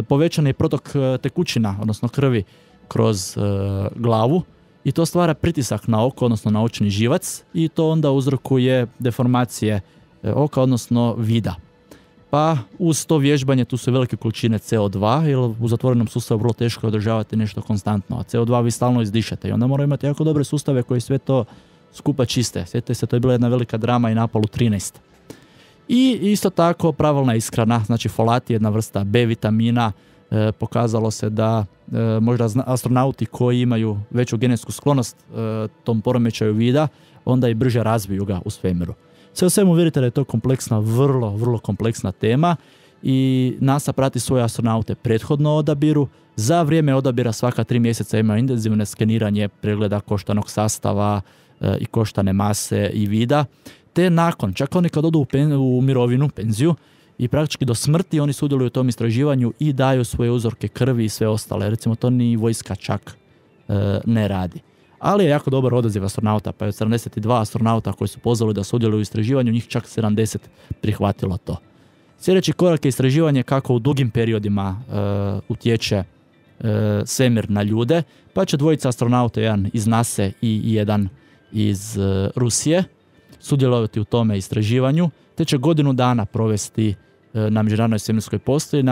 povećan je protok tekućina, odnosno krvi, kroz glavu, i to stvara pritisak na oko, odnosno na očni živac, i to onda uzrokuje deformacije oka, odnosno vida. Pa uz to vježbanje tu su velike količine CO2, jer u zatvorenom sustavu vrlo teško je održavati nešto konstantno, a CO2 vi stalno izdišete i onda moraju imati jako dobre sustave koji sve to skupa čiste. Sjetite se, to je bila jedna velika drama i na Apollo 13. I isto tako pravilna ishrana, znači folat je jedna vrsta B vitamina. Pokazalo se da možda astronauti koji imaju veću genetsku sklonost tom poremećaju vida, onda i brže razviju ga u svemiru. Sve u svemu vidite da je to kompleksna, vrlo kompleksna tema i NASA prati svoje astronaute prethodno odabiru. Za vrijeme odabira svaka 3 mjeseca ima intenzivno skeniranje pregleda koštanog sastava i koštane mase i vida. Te nakon, čak oni kad odu u mirovinu, penziju, i praktički do smrti oni sudjeluju u tom istraživanju i daju svoje uzorke krvi i sve ostale. Recimo to ni vojska čak ne radi. Ali je jako dobar odaziv astronauta, pa je od 72 astronauta koji su pozvali da sudjeluju u istraživanju, njih čak 70 prihvatilo to. Sljedeći korak je istraživanje kako u dugim periodima utječe svemir na ljude, pa će dvojica astronauta, jedan iz NASA i jedan iz Rusije, sudjelovati u tome istraživanju, te će godinu dana provesti na Međunarodnoj svemirskoj postaji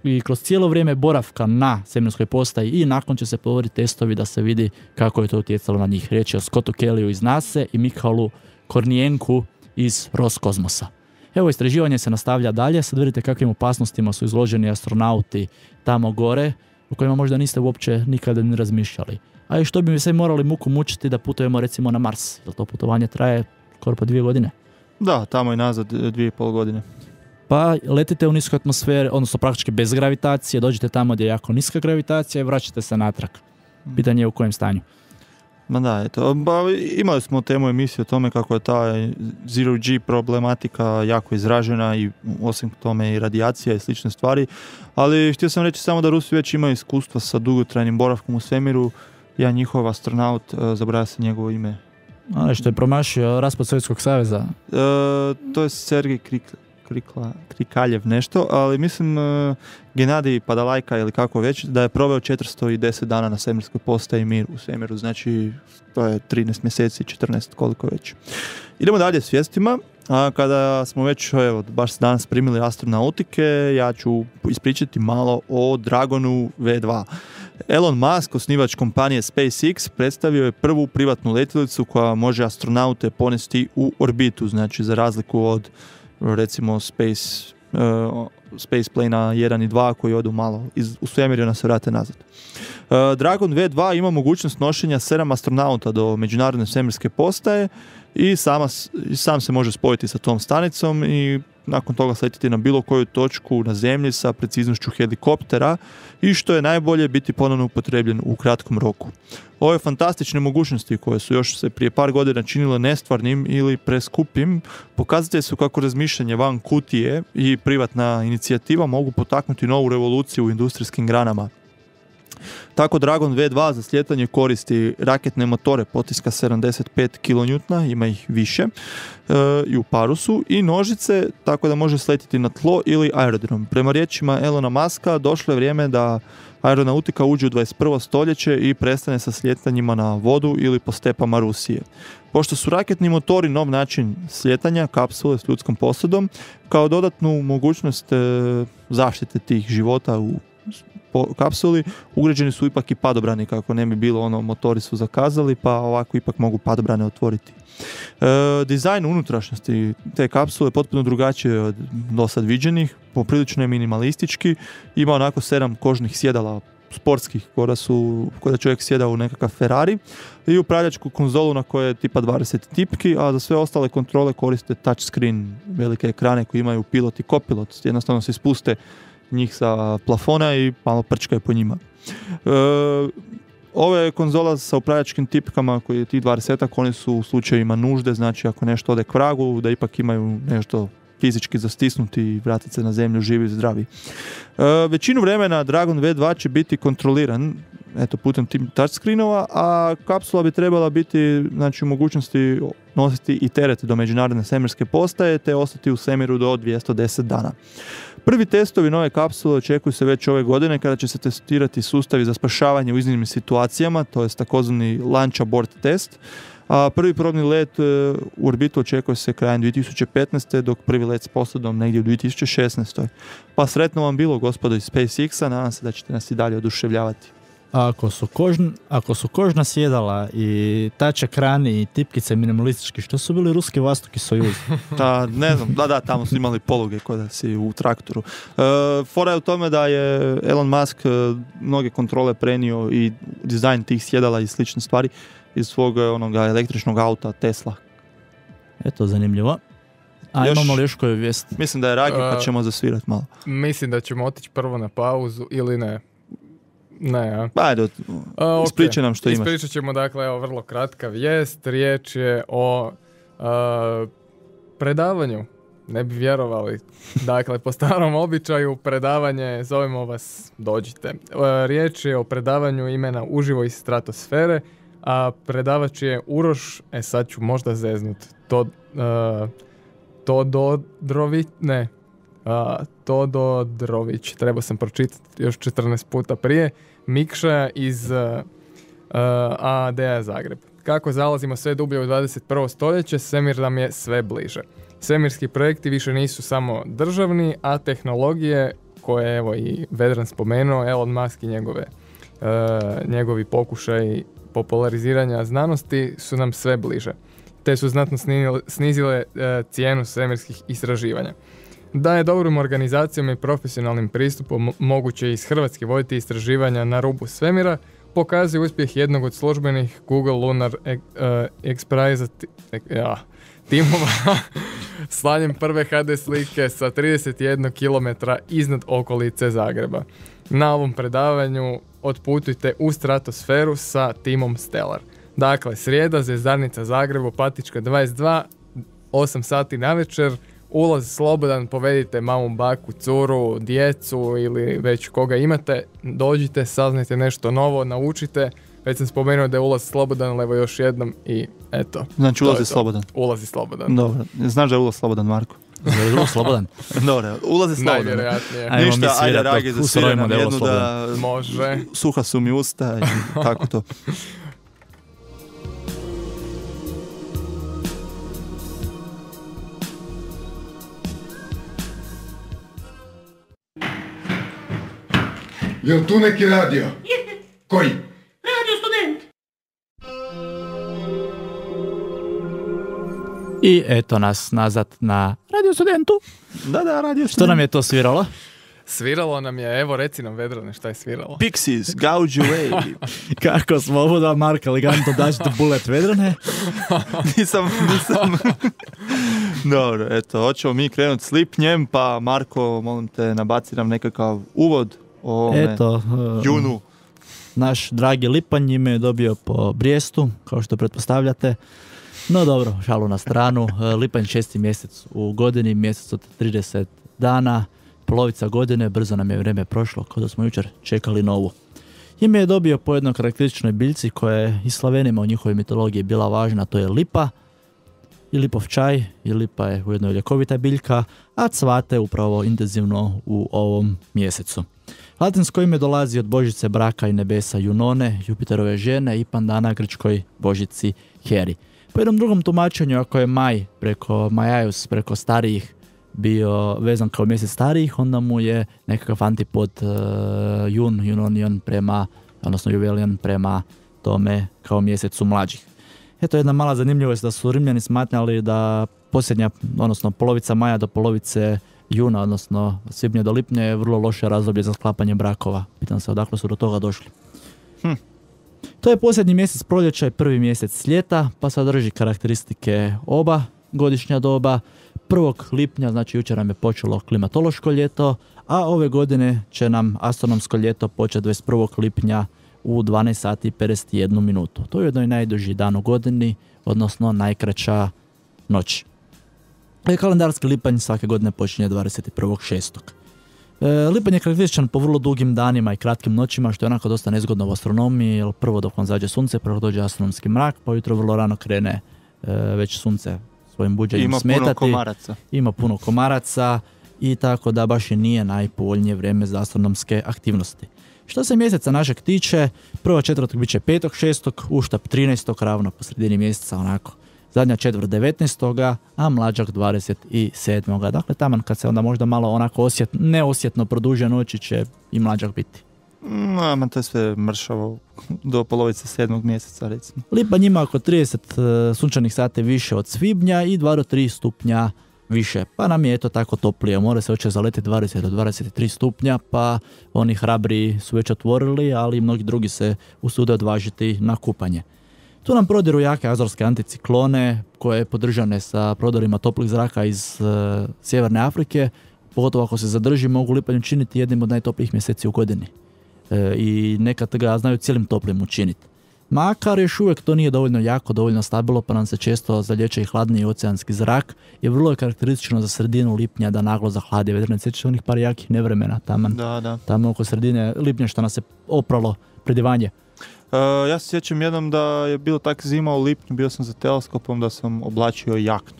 i kroz cijelo vrijeme boravka na svemirskoj postaji i nakon će se provoditi testovi da se vidi kako je to utjecalo na njih. Riječ je o Scottu Kellyu iz NASA i Mikhailu Kornijenku iz Roskosmosa. Evo, istraživanje se nastavlja dalje, sad vidite kakvim opasnostima su izloženi astronauti tamo gore, o kojima možda niste uopće nikada ni razmišljali. A i što bi mi se morali muku mučiti da putujemo recimo na Mars, jer to putovanje traje skoro po 2 godine. Da, tamo i nazad 2,5 godine. Pa letite u niskoj atmosferi, odnosno praktički bez gravitacije, dođete tamo gdje je jako niska gravitacija i vraćate se natrag. Pitanje je u kojem stanju. Ma da, eto, imali smo temu emisije o tome kako je ta Zero G problematika jako izražena i osim tome i radijacija i slične stvari, ali htio sam reći samo da Rusi već imaju iskustva sa dugotrajnim boravkom u svemiru. Jedan njihov astronaut, zaboravio se njegovo ime. A što je promašio raspad Sovjetskog saveza? To je Sergej Krikaljev nešto, ali mislim Genadij Padalajka ili kako već, da je proveo 410 dana na svemirskoj postaji Mir u svemiru, znači to je 13 mjeseci, 14 koliko već. Idemo dalje s vijestima, a kada smo već baš danas primili astronautike, ja ću ispričati malo o Dragonu V2. Elon Musk, osnivač kompanije SpaceX, predstavio je prvu privatnu letjelicu koja može astronaute ponesti u orbitu, znači za razliku od recimo Space Plane 1 i 2 koji odu malo u svemir i onda se vrate nazad. Dragon V2 ima mogućnost nošenja 7 astronauta do Međunarodne svemirske postaje i sam se može spojiti sa tom stanicom i nakon toga sletiti na bilo koju točku na zemlji sa preciznošću helikoptera i što je najbolje biti ponovno upotrebljen u kratkom roku. Ove fantastične mogućnosti koje su još se prije par godina činile nestvarnim ili preskupim, pokazatelji su kako razmišljanje van kutije i privatna inicijativa mogu potaknuti novu revoluciju u industrijskim granama. Tako Dragon V2 za slijetanje koristi raketne motore potiska 75 kN, ima ih više, i u parusu, i nožice, tako da može sletiti na tlo ili aerodrom. Prema riječima Elona Muska, došlo je vrijeme da aeronautika uđe u 21. stoljeće i prestane sa sljetanjima na vodu ili po stepama Rusije. Pošto su raketni motori nov način slijetanja kapsule s ljudskom posadom, kao dodatnu mogućnost zaštite tih života u kapsuli, ugrađeni su ipak i padobrani, kako ne bi bilo motori su zakazali, pa ovako ipak mogu padobrane otvoriti. Dizajn unutrašnjosti te kapsule je potpuno drugačije od dosad viđenih, poprilično je minimalistički, ima onako 7 kožnih sjedala sportskih, koja čovjek sjeda u nekakav Ferrari, i upravljačku konzolu na kojoj je tipa 20 tipki, a za sve ostale kontrole koriste touchscreen, velike ekrane koji imaju pilot i kopilot, jednostavno se ispuste njih sa plafona i malo prčkaju po njima. Ove konzola sa upravljačkim tipkama koji je tih 20-ak, oni su u slučajevima nužde, znači ako nešto ode k vragu, da ipak imaju nešto fizički zastisnuti i vratiti se na zemlju živi i zdravi. Većinu vremena Dragon V2 će biti kontroliran eto, putem tim touchscreenova, a kapsula bi trebala biti, znači, u mogućnosti nositi i teret do međunarodne svemirske postaje, te ostati u svemiru do 210 dana. Prvi testovi nove kapsule očekuju se već ove godine, kada će se testirati sustavi za spašavanje u iznimnim situacijama, to je takozvani launch abort test, a prvi probni let u orbitu očekuje se krajem 2015. dok prvi let s posadom negdje u 2016. Pa sretno vam bilo, gospodo iz SpaceX-a, nadam se da ćete nas i dalje oduševljavati. Ako su kožna sjedala i touch ekrani i tipkice minimalistički, što su bili ruski Vostoki Sojuz? Ne znam, da, tamo su imali poluge kod da si u traktoru. Fora je u tome da je Elon Musk mnoge kontrole prenio i dizajn tih sjedala i slične stvari iz svog onoga električnog auta Tesla. Eto, zanimljivo. A imamo li još koju vijest? Mislim da je Ragi, pa ćemo zasvirati malo. Mislim da ćemo otići prvo na pauzu ili ne. Ne, a? Ajde, ispričaj nam što imaš. Ispričat ćemo, dakle, evo, vrlo kratka vijest. Riječ je o predavanju. Ne bi vjerovali. Dakle, po starom običaju predavanje, zovemo vas, dođite. Riječ je o predavanju imena uživo iz stratosfere, a predavač je Uroš, sad ću možda zeznut, Tododrović, trebao sam pročitati još 14 puta prije, Mikša iz AAD-a Zagreb. Kako zalazimo sve dublje u 21. stoljeće, svemir nam je sve bliže. Svemirski projekti više nisu samo državni, a tehnologije koje, evo i Vedran spomenuo, Elon Musk i njegovi pokušaji populariziranja znanosti su nam sve bliže, te su znatno snizile cijenu svemirskih istraživanja. Da je dobrom organizacijom i profesionalnim pristupom moguće iz Hrvatske voditi istraživanja na rubu svemira, pokazuje uspjeh jednog od službenih Google Lunar Express timova slanjem prve HD slike sa 31 km iznad okolice Zagreba. Na ovom predavanju otputujte u stratosferu sa timom Stellar. Dakle, srijeda, Zvjezdarnica Zagreb, Opatička 22, 8 sati navečer, ulaz slobodan, povedite mamu, baku, curu, djecu ili već koga imate, dođite, saznajte nešto novo, naučite. Već sam spomenuo da je ulaz slobodan, ali evo još jednom i eto. Znači ulaz je slobodan. Ulaz je slobodan. Dobro, znaš da je ulaz slobodan, Marko? Je ulaz slobodan? Dobro, ulaz je slobodan. Najvjerojatnije. Ništa, ajde Ragi, zasvira nam jednu da... Može. Suha su mi usta i tako to. Jel tu neki radio? Koji? Radio Student. I eto nas nazad na Radio Studentu. Da, Radio Student. Što nam je to sviralo? Sviralo nam je, evo reci nam Vedrane šta je sviralo. Pixies, Gouge Away. Kako smo ovo da Marka elegantno daći do Bullet Vedrane? Nisam. Dobro, eto, hoćemo mi krenuti s lipnjem, pa Marko, molim te, nabaci nam nekakav uvod o ovome junu. Naš dragi lipanj ime je dobio po Brijestu, kao što pretpostavljate. No dobro, šalu na stranu. Lipanj 6. mjesec u godini, mjesec od 30 dana, polovica godine, brzo nam je vrijeme prošlo, kao da smo jučer čekali novu. Ime je dobio po jednoj karakterističnoj biljci koja je i Slavenima u njihovoj mitologiji bila važna, to je lipa i lipov čaj, i lipa je ujedno ljekovita biljka, a cvate upravo intenzivno u ovom mjesecu. Latinsko ime dolazi od božice braka i nebesa Junone, Jupiterove žene, i pandana grčkoj božici Heri. Po jednom drugom tumačenju, ako je maj preko Majajus, preko starijih, bio vezan kao mjesec starijih, onda mu je nekakav antipod Junonion prema, odnosno Juvelion prema tome kao mjesecu mlađih. Eto jedna mala zanimljivost da su Rimljani smatrali da posljednja, odnosno polovica maja do polovice juna, odnosno svibnja do lipnja je vrlo loše razdoblje za sklapanje brakova. Pitam se odakle su do toga došli. To je posljednji mjesec proljeća i prvi mjesec ljeta, pa sadrži karakteristike oba godišnja doba. 1. lipnja, znači jučer nam je počelo klimatološko ljeto, a ove godine će nam astronomsko ljeto početi 21. lipnja u 12 sati i 51 minutu. To je jedno i najduži dan u godini, odnosno najkraća noć. Kalendarski lipanj svake godine počinje 21.6. Lipanj je karakterističan po vrlo dugim danima i kratkim noćima, što je onako dosta nezgodno u astronomiji, jer prvo dok vam zađe sunce, prvo dođe astronomski mrak, pa ujutro vrlo rano krene već sunce svojim buđenjem smetati. Ima puno komaraca. Ima puno komaraca i tako da baš i nije najpovoljnije vrijeme za astronomske aktivnosti. Što se mjeseca našeg tiče, prva četvrt bit će 5.6., uštap 13. ravno po sredini mjeseca onako. Zadnja četvrt 19. a mlađak 27. Dakle, taman kad se onda možda malo onako neosjetno produže noći će i mlađak biti. To je sve mršavo do polovice 7. mjeseca, recimo. Lipanj ima oko 30 sunčanih sati više od svibnja i 2 do 3 stupnja više. Pa nam je eto tako toplije. More se hoće zaleti 20 do 23 stupnja, pa oni hrabri su već otvorili, ali mnogi drugi se usude odvažiti na kupanje. Tu nam prodiru jake azorske anticiklone koje podržane sa prodorima toplih zraka iz sjeverne Afrike, pogotovo ako se zadrži, mogu Lipanj učiniti jednim od najtoplijih mjeseci u godini. I nekad ga znaju cijelim toplim učiniti. Makar još uvijek to nije dovoljno jako, dovoljno stabilno, pa nam se često zalječe i hladniji oceanski zrak i vrlo je karakteristično za sredinu lipnja da naglo zahladi. Vedrne, sjećaš onih par jakih nevremena taman. Da. Tamo oko sredine lipnja što nas se opralo predivanje. Ja se sjećam jednom da je bilo tak zima u lipnju, bio sam za teleskopom da sam oblačio jaknu.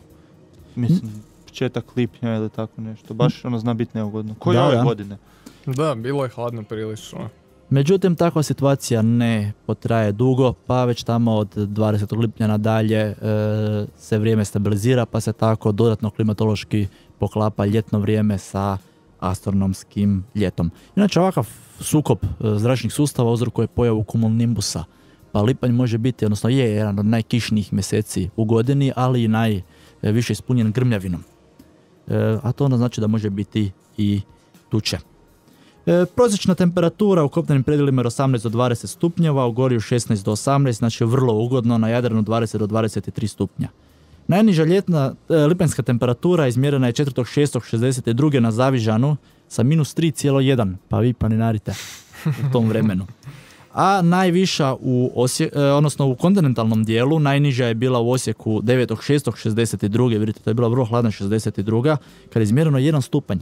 Mislim, početak lipnja ili tako nešto. Baš ono zna biti neugodno. Ko je ove godine? Da, bilo je hladno prilično. Međutim, takva situacija ne potraje dugo, pa već tamo od 20. lipnja nadalje se vrijeme stabilizira, pa se tako dodatno klimatološki poklapa ljetno vrijeme sa astronomskim ljetom. Inače, ovakav sukob zračnih sustava uzrokuje pojavu cumulonimbusa, pa lipanj može biti, odnosno je jedan od najkišnijih mjeseci u godini, ali i najviše ispunjen grmljavinom. A to onda znači da može biti i tuče. Prosječna temperatura u kopnenim predjelima je 18 do 20 stupnjeva, u Gorju 16 do 18, znači vrlo ugodno, na Jadranu 20 do 23 stupnja. Najniža ljetna lipanjska temperatura izmjerena je 4.6.62. na Zavižanu sa minus 3,1, pa vi planinarite u tom vremenu. A najviša u kontinentalnom dijelu, najniža je bila u Osijeku 9.6.62. Vidite, to je bila vrlo hladna 62. kada je izmjereno 1 stupanj.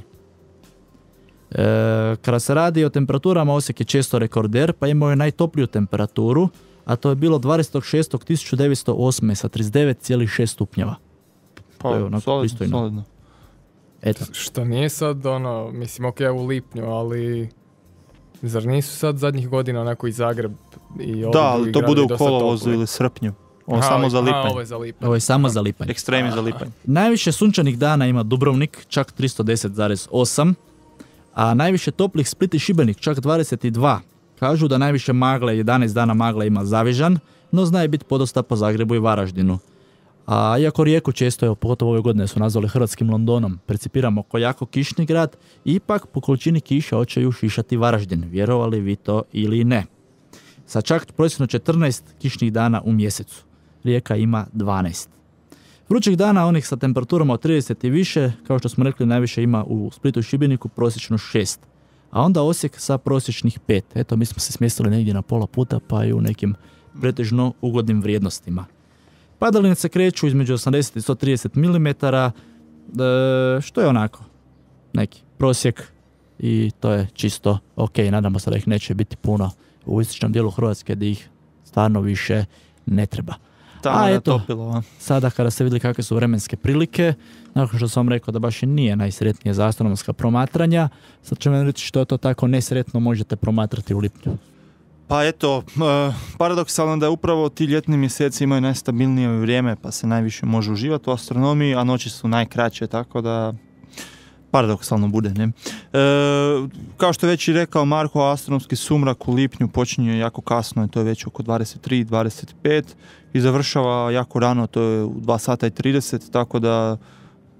Kada se radi o temperaturama, Osijek je često rekorder, pa imao je najtopliju temperaturu, a to je bilo 20.6.1908. sa 39,6 stupnjeva. Pa, solidno. Eto. Što nije sad mislim, ok, u lipnju, ali zar nisu sad zadnjih godina onako i Zagreb i da, ali to bude u kolovozu ili srpnju. Samo za lipanj. Ovo je samo za lipanj. Ekstremi za lipanj. Najviše sunčanih dana ima Dubrovnik, čak 310,8, a najviše toplih Split i Šibenik, čak 22. Kažu da najviše magle, 11 dana magle ima Zavižan, no zna je biti podosta po Zagrebu i Varaždinu. A iako Rijeku često, pogotovo ove godine su nazvali hrvatskim Londonom, percipiramo ko jako kišni grad, ipak po količini kiša hoće ju šišati Varaždin, vjerovali vi to ili ne. Sa čak prosječno 14 kišnih dana u mjesecu. Rijeka ima 12. Vrućih dana, onih sa temperaturama od 30 i više, kao što smo rekli, najviše ima u Splitu i Šibeniku, prosječno 6. A onda Osijek sa prosječnih 5. Eto, mi smo se smjestili negdje na pola puta, pa i u nekim pretežno ugodnim vrijednostima. Padaline se kreću između 80 i 130 mm, što je onako neki prosjek i to je čisto ok. Nadamo se da ih neće biti puno u istočnom dijelu Hrvatske, da ih stvarno više ne treba. A eto, sada kada ste vidjeli kakve su vremenske prilike, nakon što sam vam rekao da baš i nije najsretnije za astronomska promatranja, sad ću vam reći što je to tako nesretno možete promatrati u lipnju. Pa eto, paradoksalno da je upravo ti ljetni mjeseci imaju najstabilnije vrijeme, pa se najviše može uživati u astronomiji, a noći su najkraće, tako da paradoksalno bude, ne? Kao što je već i rekao Marko, astronomski sumrak u lipnju počinje jako kasno, to je već oko 23-25 i završava jako rano, to je u 2 sata i 30, tako da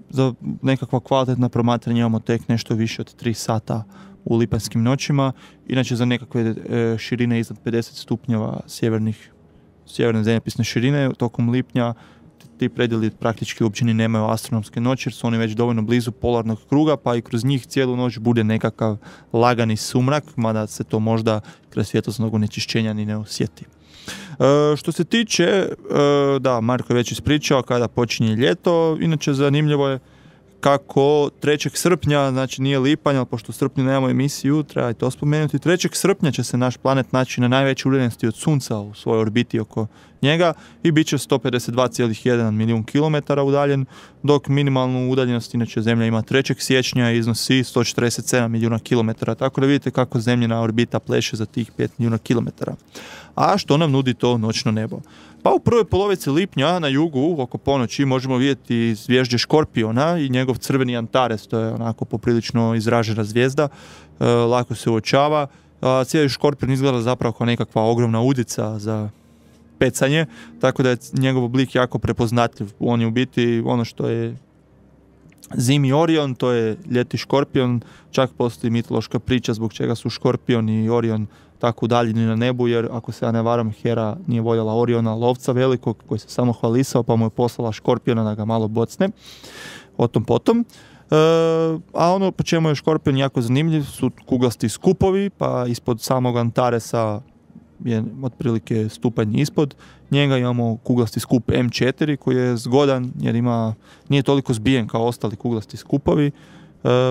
za nekakva kvalitetna promatranja imamo tek nešto više od 3 sata u lipanjskim noćima. Inače za nekakve širine iznad 50 stupnjeva sjeverne zemljopisne širine tokom lipnja ti predjeli praktički uopće ni nemaju astronomske noći jer su oni već dovoljno blizu polarnog kruga, pa i kroz njih cijelu noć bude nekakav lagani sumrak, mada se to možda kroz svjetlosnog onečišćenja ni ne osjeti. Što se tiče, da, Marko je već ispričao kada počinje ljeto, inače zanimljivo je kako 3. srpnja, znači nije lipanj, ali pošto u srpnju nemamo emisiju, treba i to spomenuti, 3. srpnja će se naš planet naći na najvećoj udaljenosti od Sunca u svojoj orbiti oko njega i bit će 152,1 milijun kilometara udaljen, dok minimalnu udaljenost inače Zemlja ima 3. siječnja i iznosi 147 milijuna kilometara, tako da vidite kako Zemljina orbita pleše za tih 5 milijuna kilometara. A što nam nudi to noćno nebo? Pa u prvoj polovici lipnja na jugu, oko ponoći, možemo vidjeti zvježđe Škorpiona i njegov crveni Antares, to je onako poprilično izražena zvijezda, lako se uočava. Cijeli Škorpion izgleda zapravo kao nekakva ogromna udica za pecanje, tako da je njegov oblik jako prepoznatljiv. On je u biti ono što je zimi Orion, to je ljeti Škorpion, čak postoji mitološka priča zbog čega su Škorpion i Orion tako udaljeni na nebu, jer ako se ja ne varam, Hera nije voljela Oriona, lovca velikog, koji se samo hvalisao, pa mu je poslala Škorpiona da ga malo bocne, o tom potom. A ono po čemu je Škorpion jako zanimljiv su kuglasti skupovi, pa ispod samog Antaresa je otprilike stupanj ispod njega imamo kuglasti skup M4 koji je zgodan jer nije toliko zbijen kao ostali kuglasti skupovi,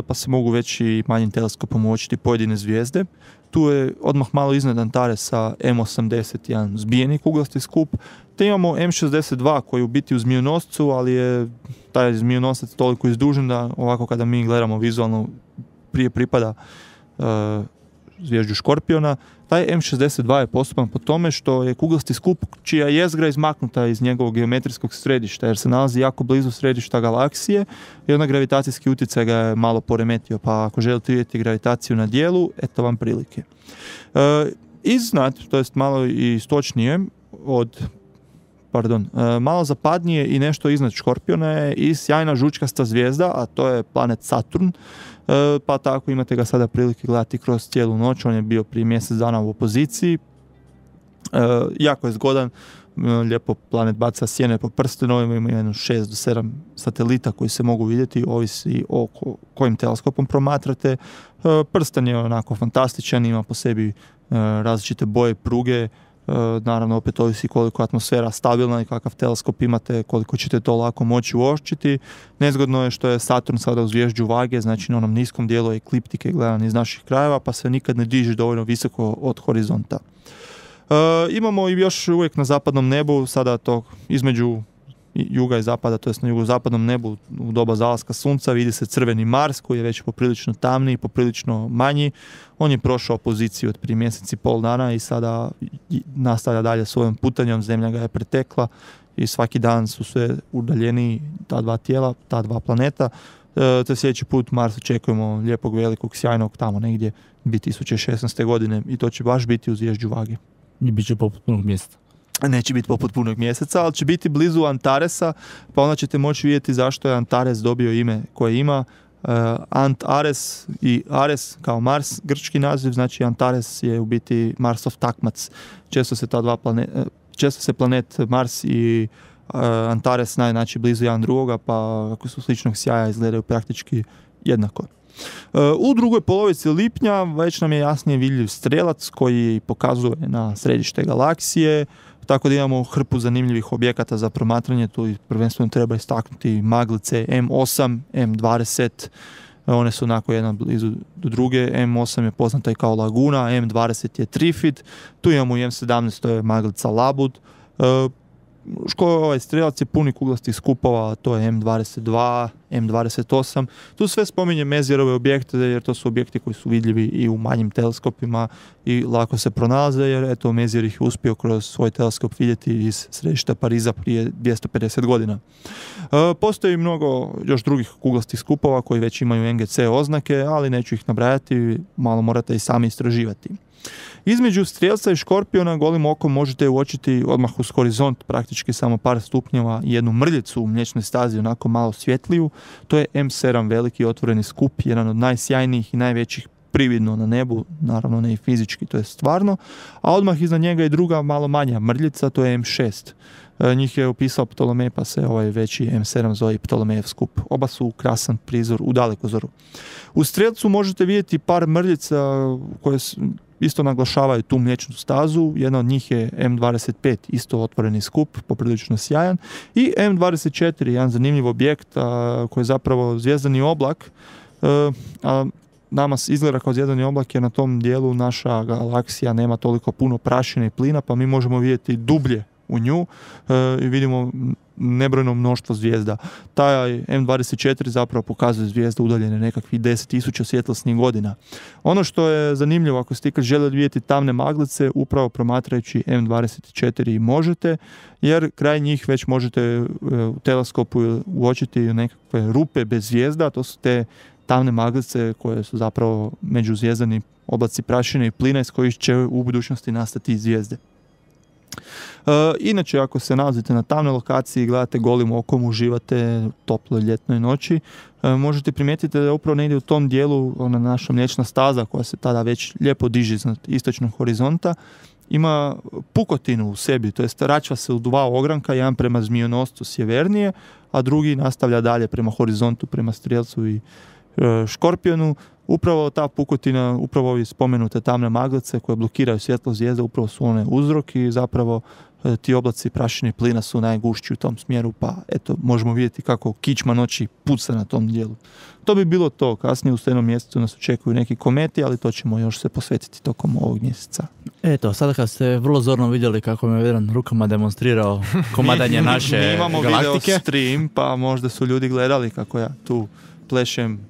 pa se mogu već i manjim teleskopom uočiti pojedine zvijezde. Tu je odmah malo iznad Antaresa M81 zbijeni kuglasti skup, te imamo M62 koji je u biti u Zmijonoscu, ali je taj Zmijonosac toliko izdužen da ovako kada mi gledamo vizualno prije pripada zvježđu Škorpiona. Taj M62 je postupan po tome što je kuglasti skup čija jezgra izmaknuta iz njegovog geometrijskog središta, jer se nalazi jako blizu središta galaksije i onda gravitacijski utjecaj ga je malo poremetio, pa ako želite vidjeti gravitaciju na dijelu, eto vam prilike. Iznad, to jest malo i istočnije malo zapadnije i nešto iznad Škorpiona je i sjajna žučkasta zvijezda, a to je planet Saturn, pa tako imate ga sada prilike gledati kroz cijelu noć. On je bio prije mjesec dana u opoziciji, jako je zgodan, lijepo planet baca sjene po prstenovima, ima 6 do 7 satelita koji se mogu vidjeti, ovisi o kojim teleskopom promatrate. Prsten je onako fantastičan, ima po sebi različite boje, pruge, naravno opet ovisi koliko je atmosfera stabilna i kakav teleskop imate, koliko ćete to lako moći uočiti. Nezgodno je što je Saturn sada u zvježđu Vage, znači na onom niskom dijelu ekliptike gledan iz naših krajeva, pa se nikad ne diže dovoljno visoko od horizonta. Imamo i još uvijek na zapadnom nebu, sada to između juga i zapada, to jest na jugozapadnom nebu u doba zalaska sunca vidi se crveni Mars koji je već poprilično tamniji, poprilično manji. On je prošao poziciju od prije mjesec i pol dana i sada nastavlja dalje svojom putanjom, Zemlja ga je pretekla i svaki dan su sve udaljeniji ta dva tijela, ta dva planeta. Te sljedeći put Mars očekujemo lijepog, velikog, sjajnog tamo negdje 2016. godine i to će baš biti u zvježđu Vage. I bit će poput punog mjesta. Neće biti poput punog mjeseca, ali će biti blizu Antaresa, pa onda ćete moći vidjeti zašto je Antares dobio ime koje ima. Antares i Ares kao Mars, grčki naziv, znači Antares je u biti Marsov takmac. Često se planet Mars i Antares znači blizu jedan drugoga, pa ako su sličnog sjaja izgledaju praktički jednako. U drugoj polovici lipnja već nam je jasnije vidljiv strelac koji pokazuje na središte galaksije, tako da imamo hrpu zanimljivih objekata za promatranje. Tu prvenstveno treba istaknuti maglice M8, M20, one su onako jedna blizu do druge. M8 je poznata i kao Laguna, M20 je Trifid, tu imamo i M17, to je maglica Labud. Ovaj strelac je puni kuglastih skupova, to je M22, M28. Tu sve spominje Mezierove objekte jer to su objekti koji su vidljivi i u manjim teleskopima i lako se pronalaze jer eto Mezier ih je uspio kroz svoj teleskop vidjeti iz središta Pariza prije 250 godina. Postoji mnogo još drugih kuglastih skupova koji već imaju NGC oznake, ali neću ih nabrajati, malo morate i sami istraživati. Između Strijelca i Škorpiona golim okom možete uočiti odmah uz horizont praktički samo par stupnjeva jednu mrljicu u mliječnoj stazi, onako malo svjetliju. To je M7 veliki otvoreni skup, jedan od najsjajnijih i najvećih prividno na nebu, naravno ne i fizički, to je stvarno, a odmah iznad njega je druga malo manja mrljica, to je M6. Njih je opisao Ptolomej, pa se ovaj veći M7 zove i Ptolemejev skup. Oba su krasan prizor u dalekozoru. U Strijelcu možete vidjeti par mrljica koje isto naglašavaju tu mliječnu stazu. Jedna od njih je M25, isto otvoreni skup, poprilično sjajan. I M24, jedan zanimljiv objekt koji je zapravo zvijezdani oblak, a nama izgleda kao zvijezdani oblak jer na tom dijelu naša galaksija nema toliko puno prašine i plina, pa mi možemo vidjeti dublje u nju i vidimo nebrojno mnoštvo zvijezda. Taj M24 zapravo pokazuje zvijezde udaljene nekakvih 10.000 svjetlosnih godina. Ono što je zanimljivo, ako ste ikad željeli vidjeti tamne maglice, upravo promatrajući M24 možete, jer kraj njih već možete u teleskopu uočiti nekakve rupe bez zvijezda, to su te tamne maglice koje su zapravo međuzvijezdani oblaci prašine i plina iz kojih će u budućnosti nastati zvijezde. Inače, ako se nalazite na tamnoj lokaciji i gledate golim okom, uživate u toploj ljetnoj noći, možete primijetiti da je upravo negdje u tom dijelu ona naša mliječna staza koja se tada već lijepo diže iznad istočnog horizonta, ima pukotinu u sebi, to jest račva se u dva ogranka, jedan prema Zmijonoscu sjevernije, a drugi nastavlja dalje prema horizontu, prema Strijelcu i Škorpionu. Upravo ta pukotina, upravo ovi spomenute tamne maglice koje blokiraju svjetlo zvijezde, upravo su one uzrok i zapravo ti oblaci prašine i plina su najgušći u tom smjeru, pa eto, možemo vidjeti kako kičma noći puca na tom dijelu. To bi bilo to. Kasnije u Studenom mjesecu nas očekuju neki kometi, ali to ćemo još se posvetiti tokom ovog mjeseca. Eto, sada kad ste vrlo zorno vidjeli kako mi je Vedran rukama demonstrirao komadanje naše mi imamo galaktike. video stream, pa možda su ljudi gledali kako ja tu plešem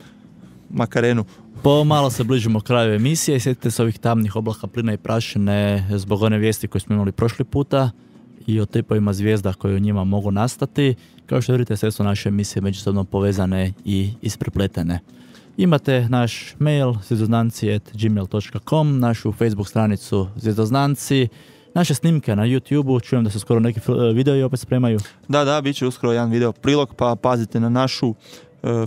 Makarenu. Pomalo se bližimo kraju emisije i sjetite se ovih tamnih oblaka plina i prašine zbog one vijesti koje smo imali prošli puta i o tipovima zvijezda koje u njima mogu nastati. Kao što vidite, sve su naše emisije međusobno povezane i isprepletene. Imate naš mail zvjezdoznanci@gmail.com, našu Facebook stranicu Zvjezdoznanci, naše snimke na YouTube-u, čujem da se skoro neki videi opet spremaju. Da, bit će uskoro jedan video prilog, pa pazite na našu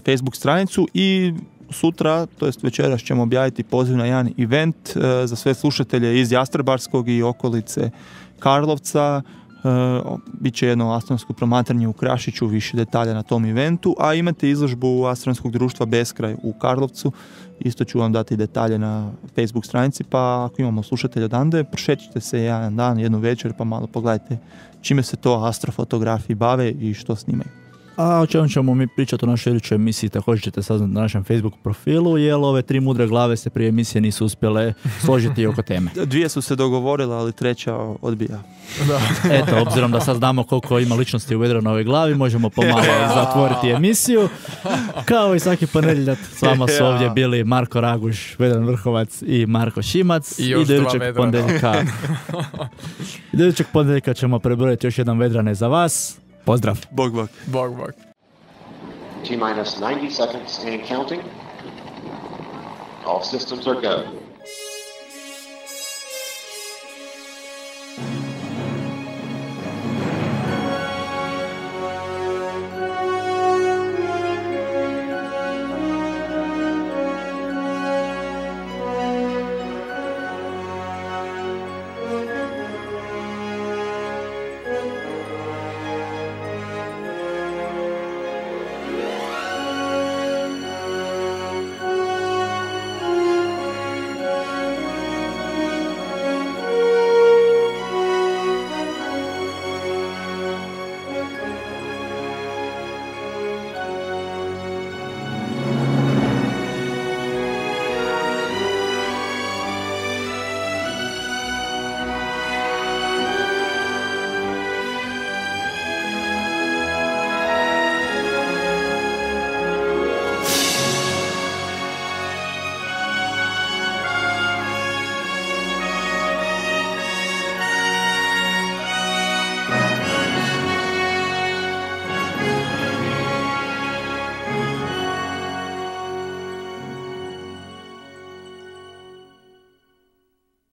Facebook stranicu i sutra, to jest večeras ćemo objaviti poziv na jedan event za sve slušatelje iz Jastrebarskog i okolice Karlovca. Biće jedno astronomsko promatranje u Krašiću, više detalja na tom eventu, a imate izložbu Astronomskog društva Beskraj u Karlovcu. Isto ću vam dati detalje na Facebook stranici, pa ako imamo slušatelja odande, prošećite se jedan dan, jednu večer, pa malo pogledajte čime se to astrofotografi bave i što snimaju. A o čemu ćemo mi pričati u našoj idućoj emisiji također ćete saznati na našem Facebook profilu, jer ove tri mudre glave se prije emisije nisu uspjele složiti oko teme. Dvije su se dogovorile, ali treća odbija. Eto, obzirom da sad znamo koliko ima ličnosti u Vedranovoj glavi, možemo pomalo zatvoriti emisiju. Kao i svaki ponedjeljak, s vama su ovdje bili Marko Raguš, Vedran Vrhovac i Marko Šimac. I još dva Vedrana. Idućeg ponedjeljka ćemo prebrojiti još jedan Vedrane za vas. Pozdrav! Bog. Bog. T-minus 90 seconds and counting. All systems are go.